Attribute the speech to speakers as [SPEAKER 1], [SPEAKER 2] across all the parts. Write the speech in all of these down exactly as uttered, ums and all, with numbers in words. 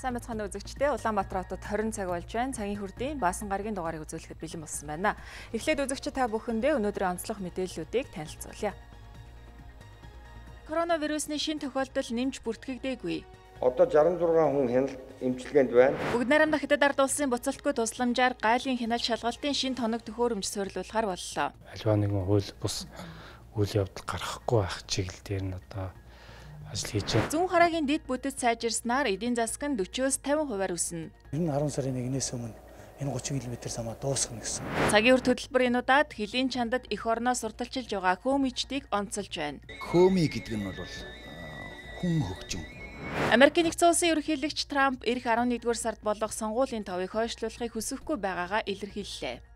[SPEAKER 1] Сайн бацхан үзэгчдээ Улаанбаатар хотод хорин цаг болж байна. Цагийн хүрдийн Баасан гарагийн дугаарыг үзүүлэхэд бэлэн болсон байна. Эхлээд үзэгчид та бүхэндээ өнөөдрийн онцлог мэдээллүүдийг танилцуулъя. Коронавирусны шинэ тохиолдол нэмж бүртгэгдээгүй.
[SPEAKER 2] Одоо шестьдесят и шесть хүн хяналт эмчилгээнд байна.
[SPEAKER 1] Бүгд найрамдах Хятад ард улсын буцалтгүй тусламжаар гайлын хяналт шалгалтын шинэ тоног төхөөрөмж суурилуулахар боллоо.
[SPEAKER 3] Аливаа нэгэн хууль бус үйл явдал гарахгүй байх чиглэлээр нь одоо ажил хийж байна.
[SPEAKER 1] Зүүн хараагийн дэд бүтэц сайжирснаар эдийн засаг нь forty-с fifty хувиар өснө.
[SPEAKER 4] Ер нь арван сарын нэгнээс өмнө энэ thirty км самаа дуусгах гэсэн.
[SPEAKER 1] Цагийн үр хөтөлбөрийнудаад хөлийн чандад эх орноо сурталчилж байгаа Хөөмичдийг онцолж байна.
[SPEAKER 5] Хөөми гэдэг нь бол хүн хөгжим.
[SPEAKER 1] Америкийн нэгдсэн улсын ерөнхийлөгч Трамп эх eleventh сард болох сонгуулийн товыг хойшлуулахыг хүсэхгүй байгаагаа илэрхийллээ.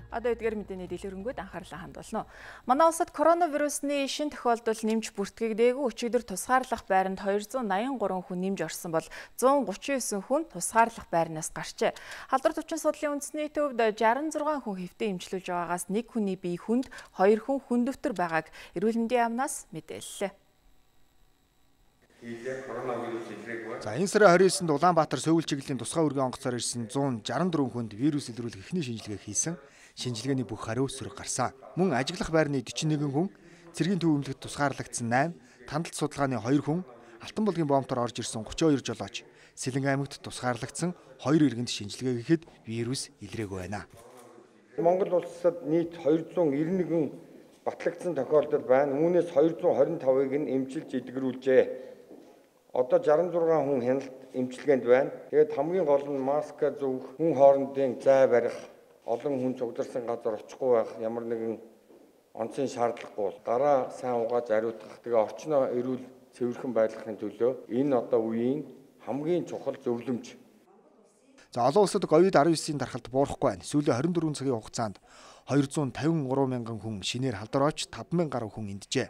[SPEAKER 1] Одоо эдгээр мэдээний дэлгэрэнгүй анхаарлаа хандуулна. Манай улсад коронавирусны шинэ тохиолдол нэмж бүртгэгдээгүй өчигдөр тусгаарлах байранд two hundred eighty-three хүн нэмж орсон бол one hundred thirty-nine хүн тусгаарлах байрнаас гарчээ. Халдвар төвчин судлалын үндэсний төвд sixty-six хүн хэвтэ эмчилүүлж байгаагаас нэг хүний бие хүнд, two хүн хүндөвтөр байгааг эрүүл мэндийн яамнаас мэдээллээ.
[SPEAKER 6] За энэ сарын twenty-ninth-нд Улаанбаатар Сөүл чиглэлийн тусгай үргийн онгоцоор ирсэн one hundred sixty-four хүнд вирус илрүүлэх эхний шинжилгээ хийсэн. Шинжилгээний бүх хариу сөрөг гарсан. Мөн ажиглах байрны forty-one хүн, цэргийн төв эмнэлэгт тусгаарлагдсан eight, тандалт судалгааны two хүн, Алтан булгийн боомтоор орж ирсэн thirty-two жолооч, Сэлэнг аймагт тусгаарлагдсан two иргэнд шинжилгээ хийхэд вирус илрээгүй байна.
[SPEAKER 2] Монгол улсад нийт two hundred ninety-one батлагдсан тохиолдол байна. Үүнээс two hundred twenty-five-ыг нь эмчилж эдгэрүүлжээ. Одоо sixty-six хүн хяналт эмчилгээнд байна. Тэгээд хамгийн гол нь маска зүүх, хүн хоорондын зай барих, олон хүн цугдарсан газар очихгүй байх, ямар нэгэн онцгийн шаардлагагүй бол гараа сайн угааж ариутгах, тэгээ орчноо эрүүл цэвэрхэн байлгахын төлөө энэ одоо үеийн хамгийн чухал зөвлөмж.
[SPEAKER 6] За олон улсад ковид nineteen дархалт буурахгүй байна. Сүүлийн twenty-four цагийн хугацаанд two hundred fifty-three мянган хүн шинээр халдвар орж five thousand гаруй хүн энджээ.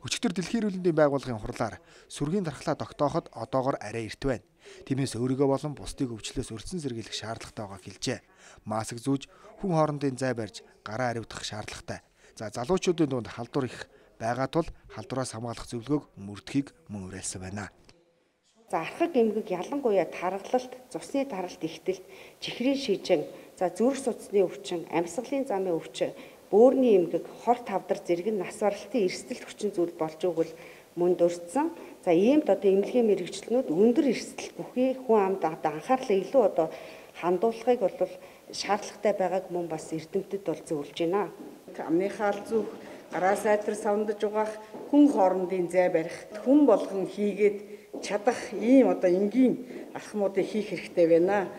[SPEAKER 6] Өчигдөр Дэлхийн эрүүл мэндийн байгууллагын хурлаар сүргийн дархлаа тогтооход одоогоор арай эрт байна. Тиймээс өөрийгөө болон бусдыг өвчлөөс өртсөн сэргийлэх шаардлагатай байгааг хэлжээ. Маск зүүж, хүн хоорондын зай барьж, гараа ариутгах шаардлагатай. За залуучуудын дунд халдвар их байгаа тул халдвараас хамгаалах зөвлөгөөг мөрдөхийг мөн уриалсан байна.
[SPEAKER 7] За архаг эмгэг ялангуяа таргалалт, цусны таралт ихтэлт, чихрийн шижин, за зүрх судасны өвчин, амьсгалын замын өвчин, бөөрийн эмгэг, хор тавдар зэрэг нь нас баралтын эрсдэлт хүчин зүйл болж өгвөл мөн дурдсан. За иймд одоо эмнэлгийн мэрэгчлэнүүд өндөр эрсдэл бүхий хүн амд анхаарлаа илүү одоо хандуулахыг бол шаардлагатай байгааг мөн бас эрдэмтэд бол зөвлөж байна.
[SPEAKER 8] Амны хаал зүөх, гараа сайтар савндаж угаах, хүн хоорондын зай барих, хүн болгон хийгээд чадах ийм одоо энгийн алхмуудыг хийх хэрэгтэй байна.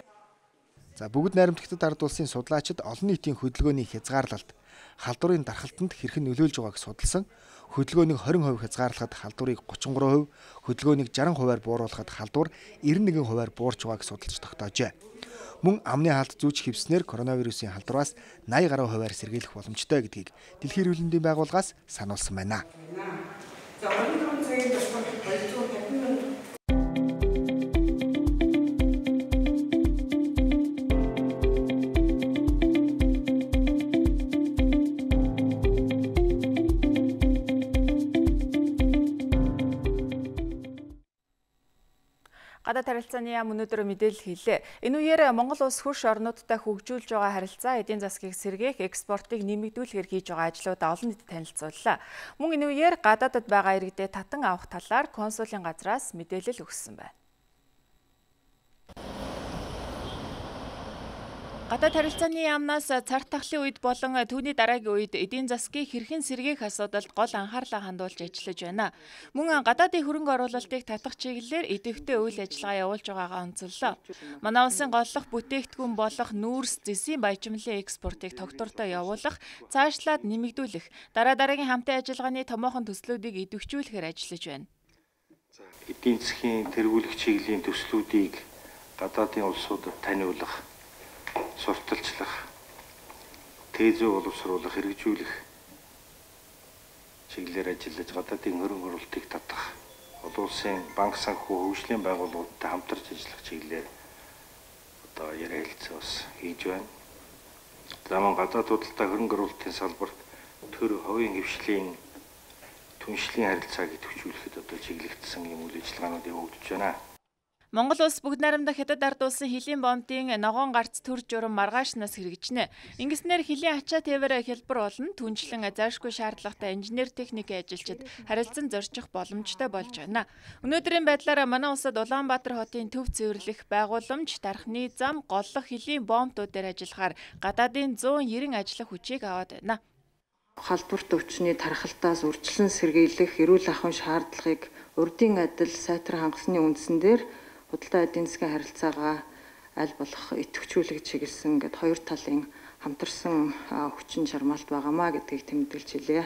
[SPEAKER 6] За бүгд найрамдах Хятад ард улсын судлаачид олон нийтийн хөдөлгөөний хязгаарлалт, халдварын дархалтанд хэрхэн нөлөөлж байгааг судалсан. Хөдөлгөөнийг twenty percent хязгаарлахад халдварыг thirty-three percent, хөдөлгөөнийг sixty percent бууруулахад халдвар ninety-one percent буурч байгааг судалж тогтоожээ. Мөн амны хаалт зүүж хивснээр коронавирусын халдвараас eighty гаруй хувиар сэргийлэх боломжтой гэдгийг Дэлхийн эрүүл мэндийн байгууллагаас сануулсан байна.
[SPEAKER 8] За өнөөдрийн цагийн туршид
[SPEAKER 1] Гадаад харилцааны яам өнөөдөр мэдээлэл хийлээ. Энэ үеэр Монгол улс хөрш орнуудтай хөгжүүлж байгаа харилцаа эдийн засгийг сэргээх, экспортыг нэмэгдүүлэхээр хийж байгаа ажлуудаа олон нийтэд танилцууллаа. Мөн энэ үеэр гадаадд байгаа иргэдэд татан авах талаар консулын газраас мэдээлэл өгсөн байна. Гадаад харилцааны яамнаас цар тахлын үед болон түүний дараагийн үед эдийн засгийг хэрхэн сэргээх асуудалд гол анхаарлаа хандуулж ажиллаж байна. Мөн гадаадын хөрөнгө оруулалтыг татах чиглэлээр идэвхтэй үйл ажиллагаа явуулж байгаагаа онцоллоо. Манай улсын голлох бүтээгдэхүүн болох нүүрс, зэсийн баяжмлын экспортыг тогтвортой явуулах, цаашлаад нэмэгдүүлэх, дараа дараагийн хамтын ажиллагааны томоохон төслүүдийг идэвхжүүлэхээр ажиллаж байна.
[SPEAKER 9] Эдийн засгийн тэргүүлэх чиглэлийн төслүүдийг гадаадын улсуудад таниулах, сурталчлах, тээзөө боловсруулах, хэрэгжүүлэх чиглэлээр ажиллаж гадаадын хөрөнгө оруулалтыг татах, олон улсын банк санхүү хөгжлийн байгууллагуудтай хамтарч ажиллах чиглэлээр одоо ярилцлага бас хийж байна. За мөн гадаад худалдаа хөрөнгө оруулалтын салбарт төр хувийн хвшлийн түншлэлийн харилцааг идэвхжүүлэхэд одоо чиглэгдсэн юм үйл ажиллагаанууд явагдаж байна.
[SPEAKER 1] Монгол улс бүгд найрамдах хятад ард улсын хилийн бомбын ногоон гарц төр журам маргаашнаас хэрэгжинэ. Ингэснээр хилийн ачаа тээвэр хялбар болон түнчлэн зайлшгүй шаардлагатай инженер техник ажилчид харилцан зорчих боломжтой болж байна. Өнөөдрийн байдлаар манай улсад Улаанбаатар хотын төв цэвэрлэх байгууламж, тархины зам, голлох хилийн бомбтууд дээр ажиллахаар гадаадын зуун нэрийн ажиллах хүчийг аваад байна.
[SPEAKER 10] Халдварт өвчний тархалтаас үржилэн сэргийлэх эрүүл ахуйн шаардлагыг урдын адил сайтар хангасны үндсэн дээр худалдаа эдийн засгийн харилцаагаа аль болох идэвхжүүлэх чиглэсэн гэд хоёр талын хамтарсан хүчин чармаалт байгаамаа гэдгийг тэмдэглэж хэлье.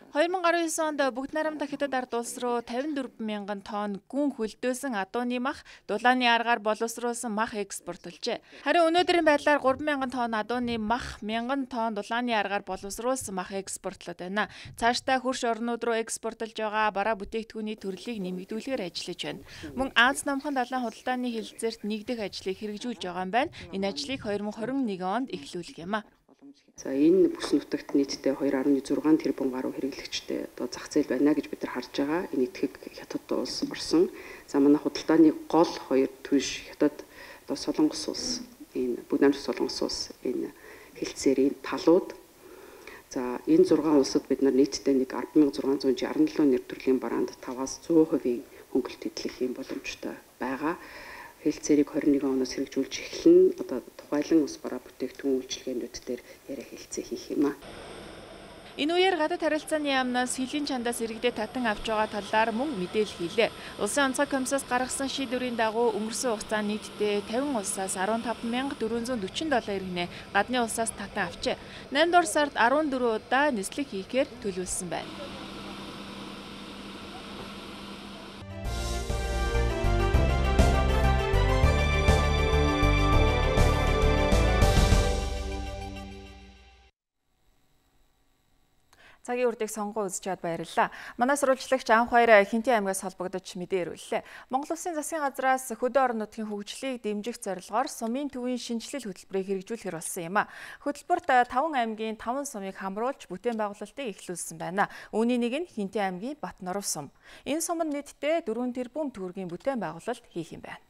[SPEAKER 1] хоёр мың гарын девять онд бүгд найрамдах хятад ард улс руу тавин дөрвөн мянган тонн гүн хөлдөөсөн адууны мах, дулааны аргаар боловсруулсан мах экспортлжээ. Харин өнөөдрийн байдлаар гурван мянган тонн адууны мах, мянган тонн дулааны аргаар боловсруулсан мах экспортлоод байна. Цаашдаа хөрш орнууд руу экспортлж байгаа бараа бүтээгдэхүүний төрлийг нэмэгдүүлэхээр ажиллаж байна. Мөн Аз намхан далайн худалдааны хэлэлцээрт нэгдэх ажлыг хэрэгжүүлж байгаа юм байна. Энэ ажлыг хоёр мың хорин нэгэн онд эхлүүлэх юм а.
[SPEAKER 11] За энэ бүс нутагт нийтдээ хоёр дасам зургаан тэрбум гаруй хэрэглэгчтэй одоо зах зээл байна гэж бид нар харж байгаа. Энэ этгийг хятад улс орсон. За манай худалдааны гол хоёр түнш хятад одоо Солонгос улс, энэ бүгд найрамдах Солонгос улс энэ хэлцээрийн талууд. За энэ зургаан улсад бид нар нийтдээ нэг арван мянган зургаан зуун шарсан нэр төрлийн бараанд таваас зуун хувийн хөнгөлт эдлэх юм боломжтой байгаа. Хэлцээрийг хоёр нэгэн оноос хэрэгжүүлж эхлэн одоо тухайлан ус бараа бүтээгдэхүүн үйлчилгээнүүд дээр яриа хэлцээ хийх юм а.
[SPEAKER 1] Энэ үеэр гадаад харилцааны яамнаас хилийн чандаас иргэдэд татан авч байгаа талаар мөн мэдээлэл хийлээ. Улсын онцгой комиссаас гаргасан шийдвэрийн дагуу өнгөрсөн хугацаанд нийтдээ тавин улсаас арван таван мянга дөрвөн зуун дөрвөн доллар иргэнэ гадны улсаас татан авчээ. наймд дугаар сард арван дөрвөн удаа нислэг хийхээр төлөвлөсөн байна. Цагийн үрдийг сонгоо үзэж чад баярлалаа. Манай сурвалжлагч анх баяр Хинтээ аймгаас холбогдож мэдээ ирүүллээ. Монгол Улсын засгийн газраас хөдөө орон нутгийн хөгжлийг дэмжих зорилгоор сумын төвийн шинжилэл хөтөлбөрийг хэрэгжүүлэхээр болсон юм а. Хөтөлбөрт таван аймгийн таван сумыг хамруулж бүтээн байгуулалтыг эхлүүлсэн байна. Үүний нэг нь Хинтээ аймгийн Батноров сум. Энэ сум нь нийтдээ дөрвөн тэрбум төгрөгийн бүтээн байгуулалт хийх юм байна.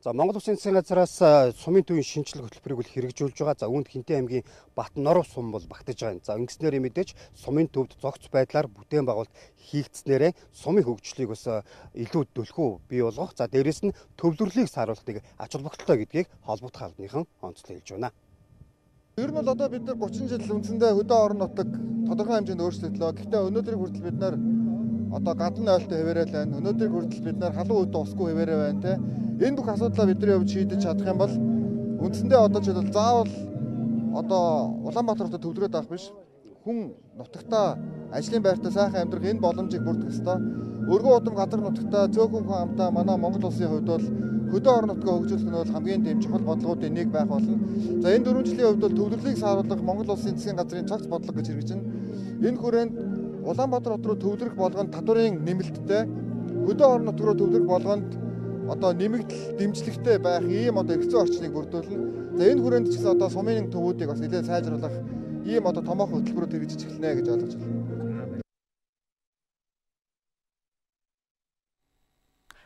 [SPEAKER 12] За Монгол Улсын засгийн газраас сумын төвийн шинжилгээ хөтөлбөрийг үл хэрэгжүүлж байгаа. За үүнд Хинтээ аймгийн Батноров сум бол багтаж байгаа. За ингэснээр мэдээж сумын төвд зогц байдлаар бүтээн байгуулалт хийгдснээрээ сумын хөгжлийг бас илүү дөлхөө бий болгох. За дээрэс нь төвлөрлийг сааруулах нэг ач холбогдолтой гэдгийг холбогдох албаныхан онцлог хэлж байна.
[SPEAKER 13] Ер нь бол одоо бид нар гучин жил үндсэндээ хөдөө орон нутаг тодорхой хэмжээнд өөрчлөлтлөө. Гэхдээ өнөөдрийг хүртэл бид нар одоо гадна ойлтой хэвээрэл байна. Өнөөдрийг хүртэл бид нар халуун үйд усгүй хэвээрээ байна те. Энэ бүх асуудлаа бидний хувьд шийдэж чадах юм бол үндсэндээ одоо ч бол заавал одоо Улаанбаатар хотод төвлөрөөд авах биш. Хүн нутагтаа ажлын байртаа сайхан амьдрах энэ боломжийг бүрдэх ёстой. Өргөн удам газар нутагтаа цөөхөн хүн амтаа манай Монгол улсын хувьд бол хөдөө орон нутгаа хөгжүүлэх нь бол хамгийн дэм чухал бодлогуудын нэг байх болно. За энэ дөрвөн жилийн хувьд бол төвлөрлийг сааруулах Монгол улсын засгийн газрын цогц бодлого гэж хэрэгжинэ. Энэ хүрээнд Улаанбаатар хот руу төвлөрөх болгонд татварын нэмэлттэй хөдөө орон нутг руу төвлөрөх болгонд одоо нэмэгдэл дэмжлэгтэй байх ийм одоо хэцүү орчныг бүрдүүлнэ. За энэ хүрээнд ч гэсэн одоо сумын төвүүдийг бас нэлээд сайжруулах ийм одоо томоохон хөтөлбөрүүд хэрэгжиж эхэлнэ гэж ойлгож байна.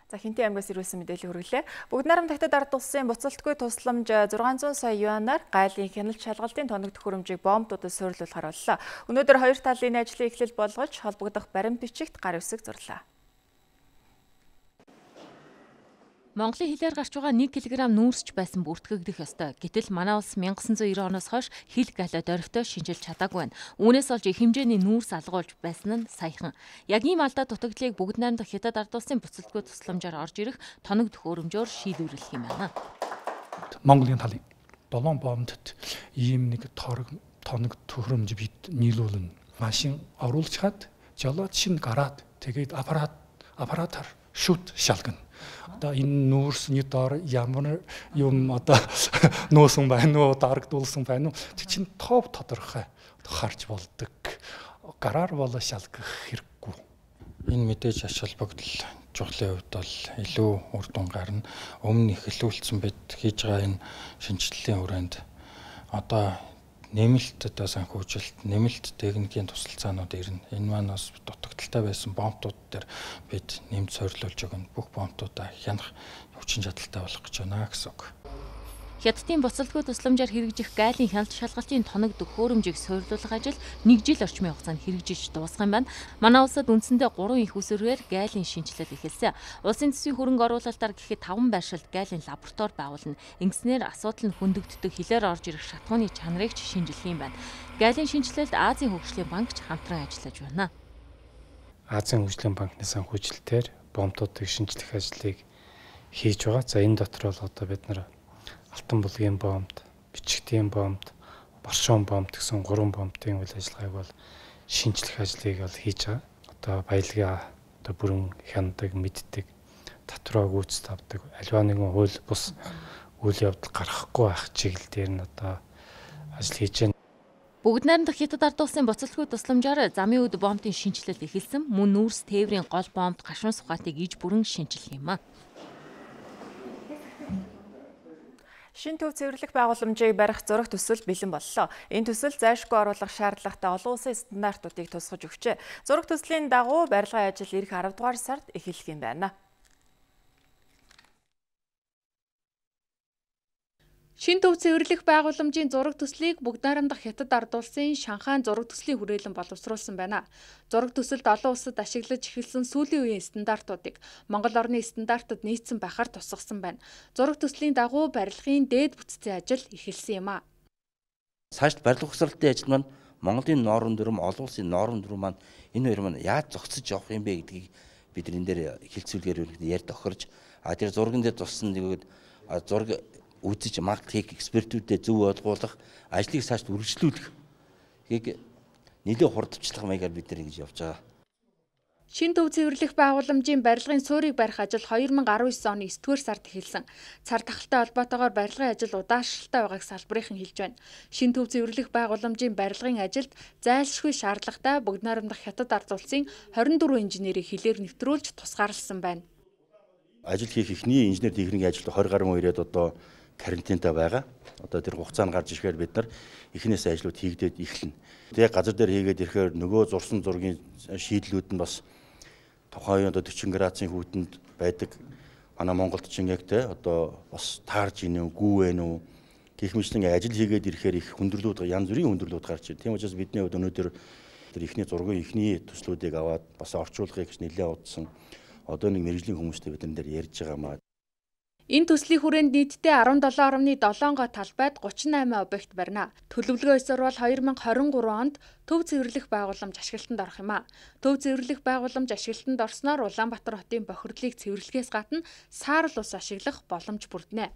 [SPEAKER 1] За Хинтээ аймгаас ирүүлсэн мэдээлэл хүргэлээ. Бүгд найрамдах хятад ард улсын буцалтгүй тусламж зургаан зуун сая юанаар гайлын хяналт шалгалтын тоног төхөөрөмжийг бомбуудад суйрлуулахаар боллоо. Өнөөдөр хоёр талын ажлын эхлэл болгож холбогдох баримт бичигт гар үсэг зурлаа.
[SPEAKER 14] Монголын хилээр гарч байгаа нэг килограмм нүүрсч байсан бүртгэгдэх ёстой. Гэтэл манай улс мянга тоғыз жүз девяносто оноос хойш хил галаад орхитой шинжилж чадаагүй байна. Үүнээс олж их хэмжээний нүүрс алгуулж байсан нь саяхан. Яг ийм алдаа дутагдлыг бүгд найрамдах хятад ард улсын буцалтгүй тусламжаар орж ирэх тоног төхөөрөмжөөр шийдвэрлэх юм байна.
[SPEAKER 3] Монголын талын долоон бомбд ийм нэг торог тоног төхөөрөмж бид нийлүүлнэ. Машин оруулж хаад жолоод шин гараад тэгээд аппарат аппаратаар шүт шалгана. Одоо энэ нүүрсний доор ямар юм одоо нуусан байна уу, дарагдуулсан байна уу? Тэг чин тов тодорхой харж болдог. Гараар болоо шалгах хэрэггүй.
[SPEAKER 9] Энэ мэдээж ач холбогдол чухлын хувьд бол илүү үр дүн гарна. Өмнө эхлүүлсэн бид хийж байгаа энэ шинжилгээний хүрээнд одоо
[SPEAKER 15] нэмэлт одоо санхүүжилт, нэмэлт техникийн тусалцаанууд ирнэ. Энэ маань бас дутагдaltaй байсан бомбтууд дээр бид нэмж сорилуулж өгнө. Бүх бомбтуудаа хянах хүчин чадалтай болох гэж байна гэсэн үг.
[SPEAKER 14] Хятадын буцалтгүй тусламжаар хэрэгжих гайлын хяналт шалгалтын тоног төхөөрөмжийг суйрлуулах ажил нэг жил орчмын хугацаанд хэрэгжиж дуусах юм байна. Манай улсад үндсэндээ гурван их усүрээр гайлын шинжилэл эхэлсэн. Улсын төсвийн хөрөнгө оруулалтаар гэхэд таван байршилд гайлын лаборатори байгуулна. Ингэснээр асуудал нь хөндөгддөг хилээр орж ирэх шатхууны чанарыг ч шинжилэх юм байна. Гайлын шинжилэлд Азийн хөгжлийн банк ч хамтран ажиллаж байна.
[SPEAKER 16] Азийн хөгжлийн банкны санхүүжилтээр бомбуудыг шинжлэх ажлыг хийж байгаа. За энэ дотор бол одоо бид нар алтан булгийн бомб, бичигтийн бомб, боршон бомб гэсэн гурван бомбын үйл ажиллагааг бол шинжлэх ажлыг бол хийж байгаа. Одоо баялгаа одоо бүрэн хянадаг, мэддэг, татвараа гүйцэд авдаг, аливаа нэгэн хууль бус үйл явдал гаргахгүй байх чиглэл дээр нь одоо ажил хийж байна.
[SPEAKER 14] Бүгд найрамдах Хятад ард улсын буцалтгүй тусламжаар замын үд бомбын шинжилэл эхэлсэн. Мөн нүүрс тээврийн гол бомбд гашуун сухатыг иж бүрэн шинжилэх юм а.
[SPEAKER 1] Шинэ төв цэвэрлэх байгууламжийг барих зураг төсөл бэлэн боллоо. Энэ төсөл зайлшгүй оруулах шаардлагатай олон улсын стандартуудыг тусгаж өгчээ. Зураг төслийн дагуу барилгын ажил ирэх арав дугаар сард эхэлэх юм байна.
[SPEAKER 17] Шинэ төв цэвэрлэх байгууламжийн зураг төслийг бүгд найрамдах Хятад ард улсын Шанхай зураг төслийн хүрээлэн боловсруулсан байна. Зураг төсөлд олон улсад ашиглаж эхэлсэн сүүлийн үеийн стандартуудыг Монгол орны стандартад нийцсэн байхаар тусгасан байна. Зураг төслийн дагуу барилгын дээд бүтцийн ажил эхэлсэн юм а.
[SPEAKER 18] Цаашд барилга угсралтын ажил маань Монголын норм дүрм, олон улсын норм дүрм маань энэ хоёр маань яаж зогсож явах юм бэ гэдгийг бид энэ дээр хэлцүүлгээр ярь тохирж, а тэр зурган дээр туссан тэгээд зураг үзэж маркетинг экспертүүдэд зөв ойлгуулах, ажлыг цаашд үргэлжлүүлэх хийг нэлээд хурдчлах маягаар бид нар ингэж явж байгаа.
[SPEAKER 17] Шинэ төв цэвэрлэх байгууламжийн барилгын суурийг барих ажил хоёр мың арван девять оны есдүгээр сард эхэлсэн. Цар тахалтай холбоотойгоор барилгын ажил удаашралтай байгааг салбарынхан хэлж байна. Шинэ төв цэвэрлэх байгууламжийн барилгын ажилд зайлшгүй шаардлагатай бүгд найрамдах Хятад ард улсын хорин дөрвөн инженерийг хилээр нэвтрүүлж тусгаарласан байна.
[SPEAKER 18] Ажил хийх эхний инженер техникийн ажил двадцать гаруй ирээд одоо карантинтай байгаа. Одоо тэр хугацаанд гарч ирэхээр бид нар эхнээс ажлууд хийгдээд эхэлнэ. Тэгээ газар дээр хийгээд ирэхээр нөгөө зурсан зургийн шийдлүүд нь бас тухайн одоо forty градусын хүүтэнд байдаг. Манай Монголд ч яг те одоо бас таарж ийнэ үү, гүү вэ үү гэх мэтлэн ажил хийгээд ирэхээр их хүндрэлүүд янз бүрийн хүндрэлүүд гарч ирнэ. Тийм учраас бидний хувьд өнөөдөр тэр ихний зургийн ихний төслүүдийг аваад бас орчуулгыг гэж нэлээд удсан. Одоо нэг мэрэгжлийн хүмүүстэй бид нар дээр ярьж байгаа маа.
[SPEAKER 17] Энэ төслийн хүрээнд нийтдээ арван долоо нугас седем гоо талбайд гучин найман объект барина. Төлөвлөгөө ёсоор бол хоёр мың двадцать три онд төв цэвэрлэх байгууламж ашиглалтанд орох юм а. Төв цэвэрлэх байгууламж ашиглалтанд орсноор Улаанбаатар хотын бохирдлыг цэвэрлэхээс гадна саарл ус ашиглах боломж бүрднэ.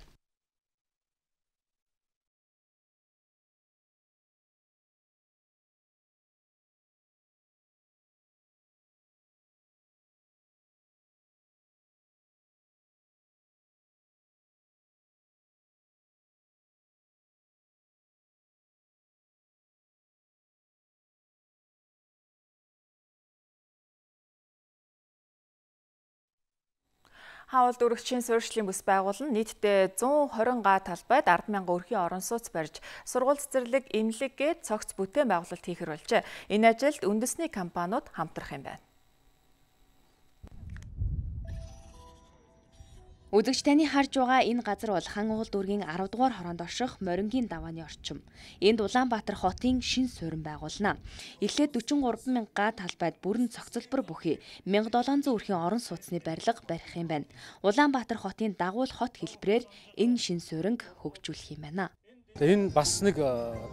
[SPEAKER 1] Хаалт өргөчийн суурьшлийн бүс байгуулна. Нийтдээ one twenty га талбайд ард мянган өрхийн орон сууц барьж, сургууль цэцэрлэг, эмнэлэг гээд цогц бүтээн байгуулалт хийхэр болжээ. Энэ ажилд үндэсний компаниуд хамтрах юм байна.
[SPEAKER 19] Үзэгч таны харж байгаа энэ газар бол хан уул дүүргийн арав дугаар хороонд орших Морингийн давааны орчим. Энд Улаанбаатар хотын шин суурин байгуулна. Эхлээд forty-three мянга га талбайд бүрэн цогцлбор бүхий one thousand seven hundred өрхийн орон сууцны барилга барих юм байна. Улаанбаатар хотын дагуул хот хэлбэрээр энэ шин сууринг хөгжүүлэх юм байна.
[SPEAKER 16] Энэ бас нэг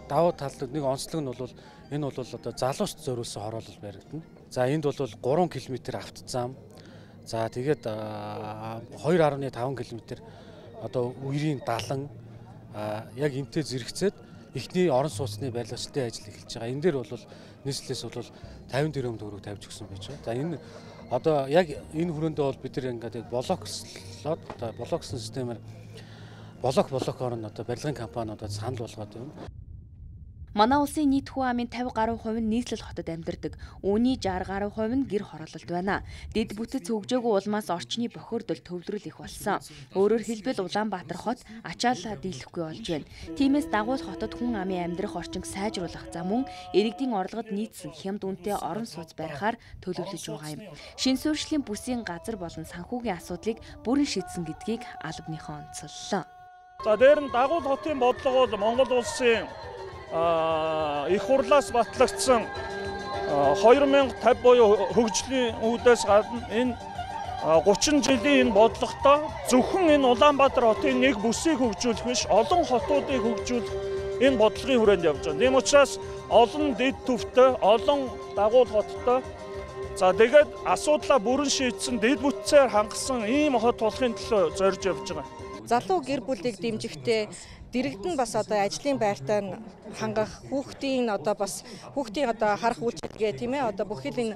[SPEAKER 16] давуу тал нэг онцлог нь бол энэ бол одоо залуучд зориулсан хороолол баригдана. За энд бол three километр автозам. За тэгээд two point five километр одоо үерийн далан яг энтэй зэрэгцээд эхний орон сууцны барилгын ажил эхэлж байгаа. Энэ дээр бол нийслэлээс бол fifty тэрбум төгрөг тавьж өгсөн байж байгаа. За энэ одоо яг энэ хүрээндээ бол бид нар ингээд блокслоод одоо блоксын системээр блок блокоор нь одоо барилгын компаниудад санал болгоод байна.
[SPEAKER 19] Манай улсын нийт хүн амын тавь гаруй хувь нь нийслэл хотод амьдардаг. Үүний шестьдесят гаруй хувь нь гэр хороололд байна. Дэд бүтэц хөгжөөгүй улмаас орчны бохирдол төвлөрөл их болсон. Өөрөөр хэлбэл Улаанбаатар хот ачаалаа дийлэхгүй болж байна. Тиймээс дагуул хотод хүн амын амьдрах орчинг сайжруулах зам мөн иргэдийн орлогод нийцсэн хямд үнэтэй орон сууц барихаар төлөвлөж байгаа юм. Шинэ суурьшлийн бүсийн газар болон санхүүгийн асуудлыг бүрэн шийдсэн гэдгийг албаныхан онцоллоо.
[SPEAKER 20] За дээр нь дагуул хотын бодлого бол Монгол улсын их хурлаас батлагдсан две тысячи пятьдесят буюу хөгжлийн үүдээс гадна энэ гучин жилийн энэ бодлоготой зөвхөн энэ Улаанбаатар хотын нэг бүсийг хөгжүүлэх биш, олон хотуудыг хөгжүүлэх энэ бодлогын хүрээнд явж байгаа. Тийм учраас олон дэд түвтэй, олон дагуул хоттой за тэгээд асуудлаа бүрэн шийдсэн, дэд бүтцээр хангасан ийм хот болохын төлөө зорж явж байгаа.
[SPEAKER 21] Залуу гэр бүлийг дэмжихдээ дэрэгдэн бас одоо ажлын байртай хангах, хүүхдийн одоо бас хүүхдийн одоо харах үйлчилгээ тийм ээ одоо бүхэл энэ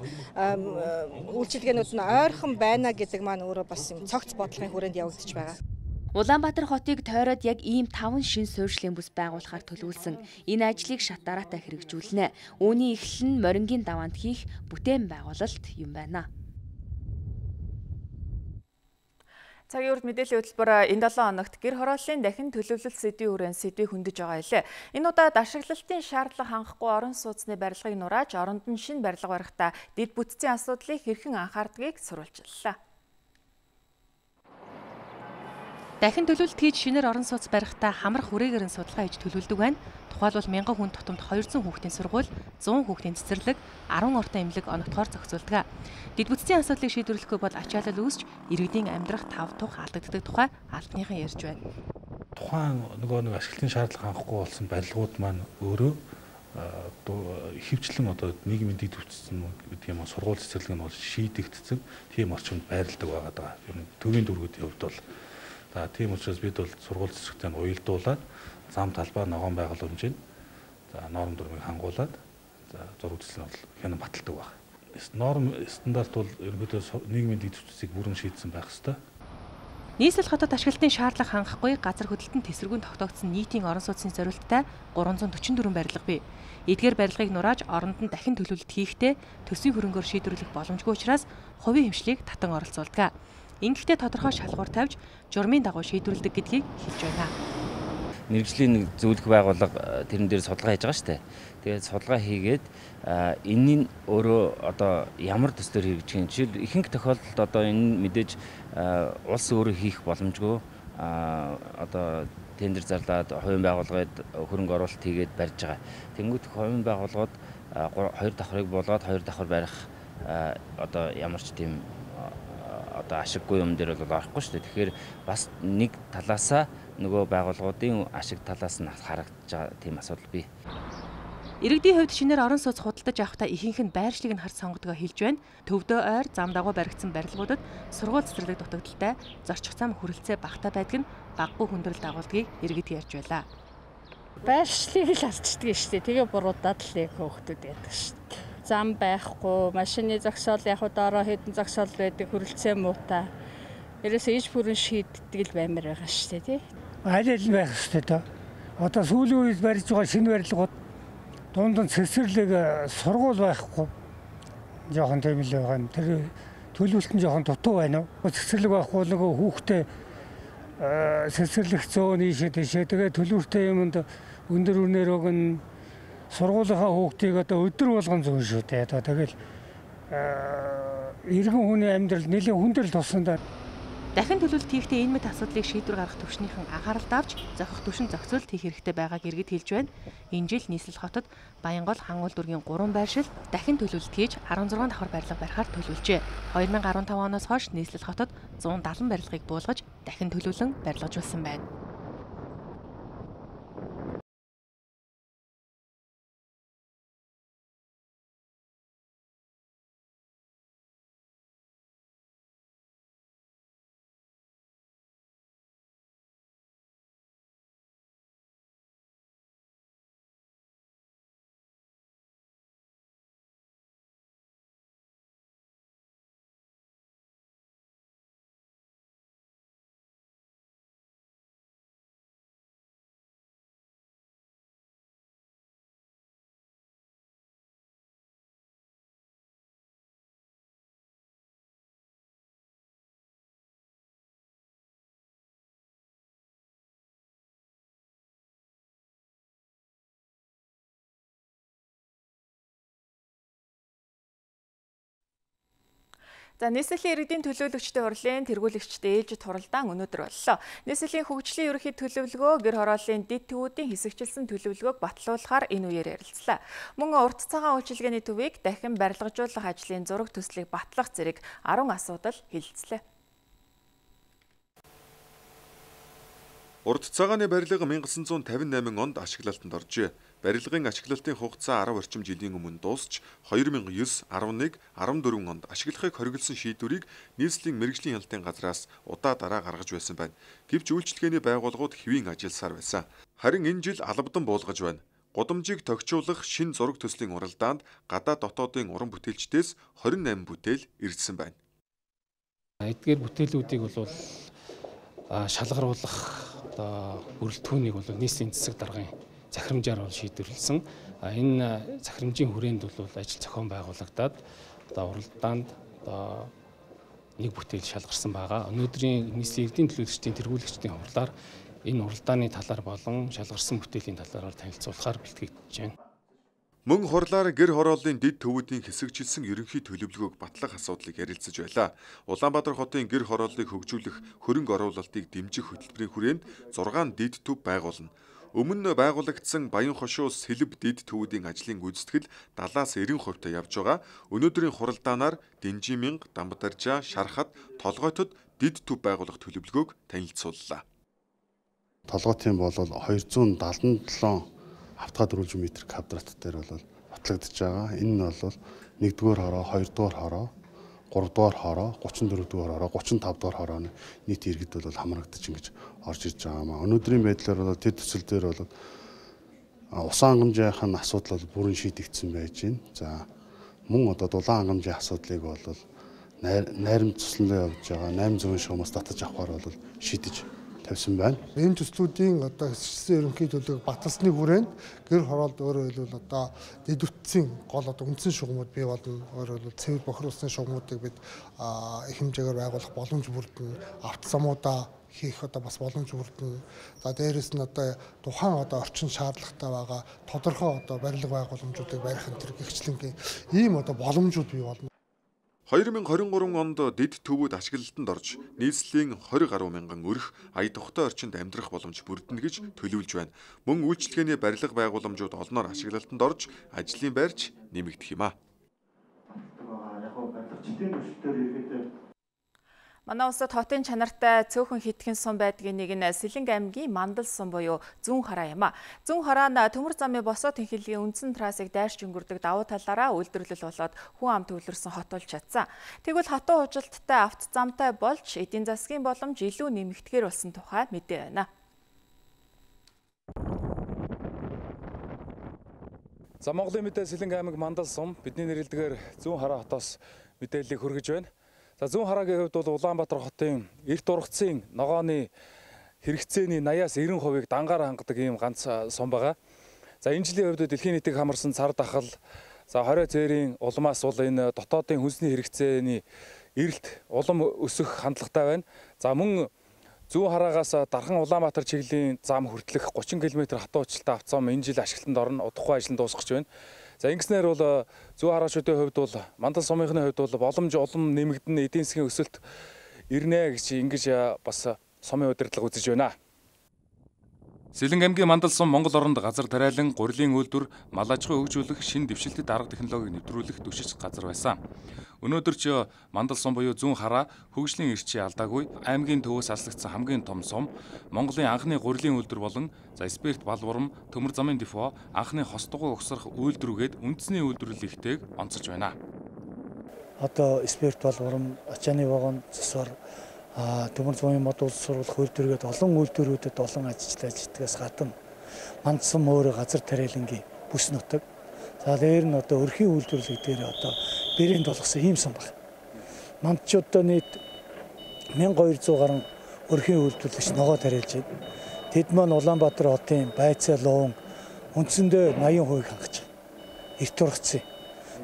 [SPEAKER 21] үйлчилгээнүүд нь ойрхон байна гэдэг маань өөрөө бас юм цогц бодлогын хүрээнд явагдаж байгаа.
[SPEAKER 19] Улаанбаатар хотыг тойроод яг ийм таван шин суурьшлийн бүс байгуулахаар төлөвлөсөн. Энэ ажлыг шат дараатай хэрэгжүүлнэ. Үүний эхлэл нь Морингийн даваанд хийх бүтээн байгуулалт юм байна.
[SPEAKER 1] Цагийн урд мэдээллийн хөтөлбөр энэ долоон хоногт гэр хорооллын дахин төлөвлөлт сэдвийн хүрээнд сэдвийг хөндөж байгаа илээ. Энэ удаад ашиглалтын шаардлага хангахгүй орон сууцны барилгыг нурааж, оронд нь шинэ барилга барихдаа дэд бүтцийн асуудлыг хэрхэн анхаардгийг сурвалжлалаа.
[SPEAKER 14] Дахин төлөвлөлт хийж шинээр орон сууц барихдаа хамар хүрээгээр нь судалгаа хийж төлөвлөдөг байна. Тухайлбал мянган хүн тутамд двести хүүхдийн сургууль, сто хүүхдийн цэцэрлэг, ten ортой эмнэлэг оногдохоор зохицуулдаг. Дэд бүтцийн асуудлыг шийдвэрлэхгүй бол ачаалал үүсч иргэдийн амьдрах тав тух алдагддаг тухай албаныхан ярьж байна.
[SPEAKER 15] Тухайн нөгөө нэг ашиглалтын шаардлага хангахгүй болсон барилгууд маань өөрөө хөвчлэн одоо нийгмийн дэд бүтцэн гэдэг юм сургууль цэцэрлэг нь бол шийдэгдсэн тийм орчинд байрладаг байгаа даа. Ер нь төвийн дүүргүүдийн хувьд бол за тийм учраас бид бол сургууль цэцэрлэгтээ уялдуулаад зам талбай ногоон байгууламжийг за норм дүрмийг хангуулад за зураг цэцлэн бол хянан баталдаг байна. Норм стандарт бол ерөнхийдөө нийгмийн дэд бүтцийг бүрэн шийдсэн байх ёстой.
[SPEAKER 14] Нийслэл хотод ашиглалтын шаардлага хангахгүй газар хөдлөлтөнд тэсэргүүн тогтоогдсон нийтийн орон сууцны зорилттой гурван зуун forty four барилга бий. Эдгээр барилгыг нурааж оронд нь дахин төлөвлөлт хийхдээ төсвийн хөрөнгөөр шийдвэрлэх боломжгүй учраас хувийн хэмжлийг татан оролцуулдаг. Ингэхдээ тодорхой шалгуур тавьж журмын дагуу шийдвэрлэдэг гэдгийг хэлж байна.
[SPEAKER 22] Мэргэжлийн нэг зөвлөх байгууллага тэрэн дээр судалгаа хийж байгаа шүү дээ. Тэгээд судалгаа хийгээд энэний өөрөө одоо ямар төслөөр хэрэгжих юм. Жишээл ихэнх тохиолдолд одоо энэ мэдээж улс өөрөө хийх боломжгүй одоо тендер зарлаад хувийн байгууллагад хөрөнгө оруулалт хийгээд барьж байгаа. Тэнгүүт хувийн байгууллагууд хоёр давхрыг буулгаад хоёр давхар барих одоо ямар ч тийм одоо ашиггүй юм дээр бол орохгүй шүү дээ. Тэгэхээр бас нэг талаасаа нөгөө байгууллагуудын ашиг талаас нь харагдаж байгаа тийм асуудал бий.
[SPEAKER 14] Иргэдийн хувьд шинээр орон сууц худалдаж авахдаа ихэнх нь байршлыг нь харж сонгодгоо хэлж байна. Төвдөө ойр зам дагуу баригдсан барилгуудад сургууль цэцэрлэг дутагдaltaй, зорчих зам хүрэлцээ багтаа байдаг нь баггүй хүндрэл дагуулдгийг иргэд ярьж байлаа.
[SPEAKER 23] Байршлыг л алдчихдаг шүү дээ. Тэгээ буруудаад л яг хөөхтүүд яадаг шүү дээ. Зам байхгүй, машины зогсоол яг доороо хэдэн зогсоол байдаг, хүрэлцээ муутай. Ерөөсөө иж бүрэн шийддэг л баймар байгаа шүү дээ, тий.
[SPEAKER 24] Аль аль байх шүү дээ. Одоо сүүлийн үед барьж байгаа шинэ барилгууд дунд нь цэцэрлэг сургууль байхгүй. Жохон тийм л байгаа юм. Тэр төлөвлөлт нь жохон дутуу байна уу? Цэцэрлэг байхгүй нөгөө хүүхдээ цэцэрлэг зөөн ийшээ тийшээ тэгээ төлөвлөлттэй юмд өндөр үнээр өгнө. Сургуулийнхаа хүүхдийг одоо өдөр болгон зүүн шүү дээ. Одоо тэгэл иргэн хүний амьдрал нэлээд хүндрэл туссан.
[SPEAKER 14] Дахин төлөвлөлт хийхдээ энэ мэт асуудлыг шийдвэр гаргах түвшнийхэн анхааралд авч зохих түвшин зохицуулт хийх хэрэгтэй байгааг иргэд хэлж байна. Энэ жил нийслэл хотод Баянгол Хангуул дүүргийн гурван байршил дахин төлөвлөлт хийж sixty-six давхар барилга барихаар төлөвлөжээ. twenty fifteen оноос хойш нийслэл хотод one seventy барилгыг буулгаж дахин төлөвлөн барилгажуулсан байна.
[SPEAKER 1] За нийслэлийн иргэдийн төлөөлөгчдийн хурлын тэргүүлэгчтэй ээлжид хуралдаан өнөөдөр боллоо. Нийслэлийн хөгжлийн ерөнхий төлөвлөгөө гэр хорооллын дэд төвүүдийн хэсэгчилсэн төлөвлөгөөг батлуулахаар энэ үеэр ярилцлаа. Мөн урт цагаан үйлчилгээний төвийг дахин барилгажуулах ажлын зураг төслийг батлах зэрэг арван асуудал хэлэлцлээ.
[SPEAKER 2] Урт цагааны барилга 천구 cinquanta eight онд ашиглалтанд оржээ. Барилгын ашиглалтын хугацаа арав орчим жилийн өмнө дуусч two thousand nine, eleven, fourteen онд ашиглахыг хориглосон шийдвэрийг нийслэлийн мэргэжлийн хяналтын газраас удаа дараа гаргаж байсан байна. Гэвч үйлчилгээний байгууллагууд хэвийн ажилласаар байсан. Харин энэ жил албадан буулгаж байна. Гудамжийг тохижуулах шинэ зураг төслийн уралдаанд гадаад дотоодын уран бүтээлчдээс twenty-eight бүтээл ирсэн байна.
[SPEAKER 15] Эдгээр бүтээлүүдийг бол шалгаруулах одоо бүрэлдэхүүнийг бол нийслэлийн засаг даргын захирамжаар бол шийдвэрлсэн. Энэ захирамжийн хүрээнд бол ажил зохион байгуулагдаад одоо уралдаанд одоо нэг бүтээл шалгарсан байгаа. Өнөөдрийн нийслэлийн иргэдийн төлөөлөгчдийн тэргүүлэгчдийн хурлаар энэ уралдааны талаар болон шалгарсан бүтээлийн талаар танилцуулахаар бэлтгэгдэж байна.
[SPEAKER 2] Мөн хурлаар гэр хорооллын дэд төвүүдийн хэсэгчилсэн ерөнхий төлөвлөгөөг батлах асуудлыг ярилцаж байлаа. Улаанбаатар хотын гэр хорооллыг хөгжүүлэх хөрөнгө оруулалтыг дэмжих хөтөлбөрийн хүрээнд six дэд төв байгуулна. Өмнө байгуулагдсан Баян хошуу Сэлб дэд төвүүдийн ажлын гүйцэтгэл seventy-аас ninety percent явж байгаа. Өнөөдрийн хуралдаанаар Дэнжиминг, Дамбатаржаа, Шархад, Толгойтод дэд төв байгуулах төлөвлөгөөг танилцууллаа.
[SPEAKER 4] Толгойтын бол two hundred seventy-seven автгаа дөрвөлжин метр квадрат дээр бол батлагдж байгаа. Энэ нь бол нэгдүгээр хороо, хоёрдугаар хороо, гуравдугаар хороо, thirty-four дугаар хороо, thirty-five дугаар хорооны нийт иргэд бол хамрагдаж ингэж орж ирж байгаа маа. Өнөөдрийн байдлаар бол тэд төсөл дээр бол усан хангамжийн асуудал бол бүрэн шийдэгдсэн байж байна. За мөн одоо дулаан хангамжийн асуудлыг бол найрамд туслалаа явж байгаа eight hundred шугамаас татаж авахар бол шийдэж тавьсан байна.
[SPEAKER 5] Энэ төслүүдийн одоо хэсэгчилсэн ерөнхий төлөвлөгөөг баталсны хүрээнд гэр хороолд өөрөө хэлбэл одоо дэд үтцийн гол одоо үндсэн шугамуд бий болно. Өөрөөр хэлбэл цэвэр бохирдуулсан шугамуудыг бид их хэмжээгээр байгуулах боломж бүрдэн, автозамуудаа хийх одоо бас боломж бүрдэн. За дээрэс нь одоо тухайн одоо орчин шаардлагатай байгаа тодорхой одоо барилга байгууламжуудыг барих энэ төр гихчлэнгийн ийм одоо боломжууд бий болно.
[SPEAKER 2] twenty twenty-three онд дэд төвүүд ашиглалтанд орж нийслэлийн twenty гаруй мянган өрх ая тухтай орчинд амьдрах боломж бүрдэнэ гэж төлөвлөж байна. Мөн үйлчилгээний барилга байгууламжууд олноор ашиглалтанд орж ажлын байрч нэмэгдэх юм а.
[SPEAKER 1] Манай улсад хотын чанартай цөөхөн хитгэн сум байдгийн нэг нь Сэлэнг аймгийн Мандал сум буюу Зүүн хараа юм а. Зүүн хараа нь төмөр замын босоо тэнхилгийн үндсэн трассыг дайрч өнгөрдөг давуу талаараа үйлдвэрлэл болоод хүн ам төвлөрсөн хот болж чадсан. Тэгвэл хотын хужилттай авто замтай болж эдийн засгийн боломж илүү нэмэгдэхээр болсон тухай мэдээ байна.
[SPEAKER 16] За Монголын мэдээ Сэлэнг аймаг Мандал сум бидний нэрэлдгээр Зүүн хараа хотоос мэдээллийг хүргэж байна. За Зүүн хараагийн хувьд бол Улаанбаатар хотын эрт ургацын ногооны хэрэгцээний eighty-аас ninety percent-ийг дангаар хангадаг ийм ганц сум байгаа. За энэ жилийн хувьд дэлхийн нийтийг хамарсан цар дахал, за хорио цээрийн улмаас бол энэ дотоодын хүнсний хэрэгцээний эрэлт улам өсөх хандлагатай байна. За мөн Зүүн хараагаас дархан Улаанбаатар чиглэлийн зам хүртэлх thirty км хатуу училтай автозам энэ жил ашиглалтанд орно, удахгүй ажил нь дуусгаж байна. За ингэснээр бол Зүүн хараачдын хувьд бол Мандал сумынхны хувьд бол боломж улам нэмэгдэн эдийн засгийн өсөлт ирнэ гэж ингэж бас сумын удирдлага үзэж байна. Сэлэнг аймгийн Мандал сум Монгол оронд газар тариалан, гурилын үйлдвэр, мал аж ахуй хөгжүүлэх, шинэ дэвшилтэд арга технологиг нэвтрүүлэх түшиж газар байсан. Өнөөдөр ч Мандал сум буюу Зүүн хараа хөгжлийн эрчээ алдаагүй аймгийн төвөөс аслагдсан хамгийн том сум, Монголын анхны гурилын үйлдвэр болон за спирт балварм, төмөр замын депо, анхны хостгоо угсрах үйлдвэргээд үндэсний үйлдвэрлэл ихтэйг онцолж байна.
[SPEAKER 7] Одоо спирт балварм, ачааны вагон, засвар, төмөр замын мод улс сургуулах үйлдвэргээд олон үйлдвэрүүдэд олон ажилтнаа ажилтгаас гадна Мандал сум өөрөө газар тариалангийн бүс нутаг. За дээр нь одоо өрхийн үйлдвэрлэл дээр одоо бэрээнд болгосон ийм сум баг. Мандчуудаа нийт twelve hundred гаруй өрхийн үйлдвэрлэгч ногоо тариалж байна. Тэд маань Улаанбаатар хотын байцаа луун үндсэндээ eighty percent хангаж байна. Эрт ургацын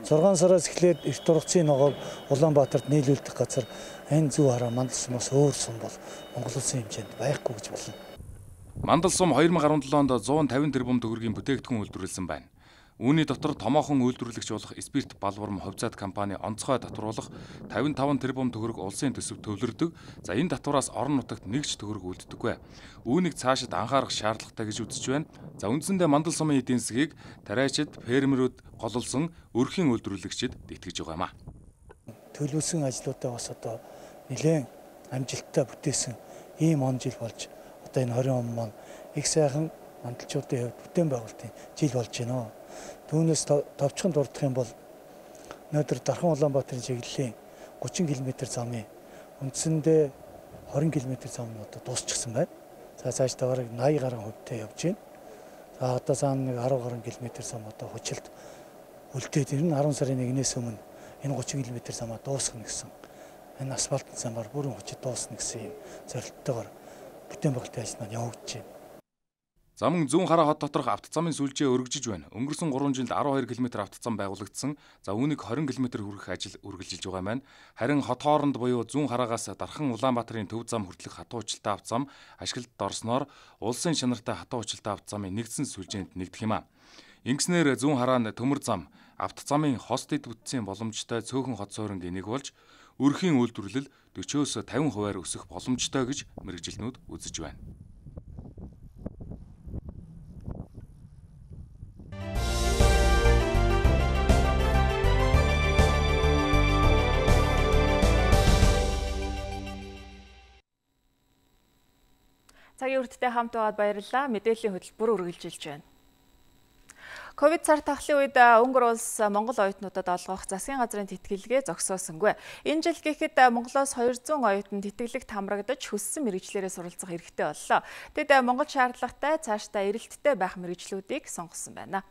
[SPEAKER 7] six сараас эхлээд эрт ургацын ногоог Улаанбаатарт нийлүүлдэг газар энэ Зүүн хараа Мандал сумаас өөр сум бол Монгол улсын хэмжээнд байхгүй гэж болно.
[SPEAKER 16] Мандал сум twenty seventeen онд one fifty тэрбум төгрөгийн бүтээгдэхүүн үйлдвэрлэсэн байна.
[SPEAKER 6] Үүний дотор томоохон үйлдвэрлэгч болох Спирт Балварм хувьцаат компани онцгой татвруулах тавин таван тэрбум төгрөг улсын төсөв төвлөрдөг. За энэ татвараас орон нутагт нэгж төгрөг үлддэггүй. Үүнийг цаашид анхаарах шаардлагатай гэж үзэж байна. За үндсэндээ мандал сумын эдийн засгийг тариачид, фермерүүд гололсон өрхийн үйлдвэрлэгчид дэтгэж байгаа юм а.
[SPEAKER 7] Төлөвлөсөн ажлуудаа бас одоо нэлээд амжилттай бүтээсэн ийм он жил болж одоо энэ хорин он маань их сайхан мандалчуудын хувьд бүтээн байгуулалтын жил болж байна. Түүнээс товчхон дурдах юм бол өнөөдөр Дархан Улаанбаатарын чиглэлийн гучин км замын үндсэндээ хорин км зам нь одоо дуусчихсан байна. За цааш таварыг наяа гаруй хувьтай явж байна. За одоо цаана нэг арван гаруй км зам одоо хүчилт үлдээд ирнэ. арван сарын нэгнээс өмнө энэ гучин км замаа дуусгах гэсэн. Энэ асфальтын замаар бүрэн хүчит дуусна гэсэн юм зорилттойгоор бүтээн байгуулалтын ажил маань явагдаж байна.
[SPEAKER 6] Замын зүүн хараа хот доторх автозамын сүлжээ өргөжж байна. Өнгөрсөн гурван жилд арван хоёр км автозам байгуулагдсан. За үүнийг хорин км хүргэх ажил үргэлжилж байгаа маань. Харин хот хооронд буюу зүүн хараагаас Дархан Улаанбаатарын төв зам хүртэлх хатуу хүчилтэй автозам ашиглалтад орсноор улсын чанартай хатуу хүчилтэй автозамын нэгдсэн сүлжээнд нэгдэх юм а. Ингэснээр зүүн хараа нь төмөр зам автозамын хост дэд бүтцийн боломжтой цөөхөн хот суурингийн нэг болж өрхийн үйлдвэрлэл дөрвөөс тавин хувиар өсөх боломжтой гэж мэргэжилтнүүд үзэж байна.
[SPEAKER 1] Цагийн үрдтэй хамт байгаад баярлалаа. Мэдээллийн хөтөлбөр үргэлжилж байна. Ковид цар тахлын үед Унгар улс Монгол оюутнуудад олгох засгийн газрын тэтгэлгээ зогсоосонгүй. Энэ жил гэхэд Монголоос хоёр зуун оюутан тэтгэлэгт хамрагдаж хүссэн мэргэжлээрээ суралцах эрхтэй боллоо. Тэд Монгол шаардлагатай цаашдаа эрэлттэй байх мэргэжлүүдийг сонгосон байна.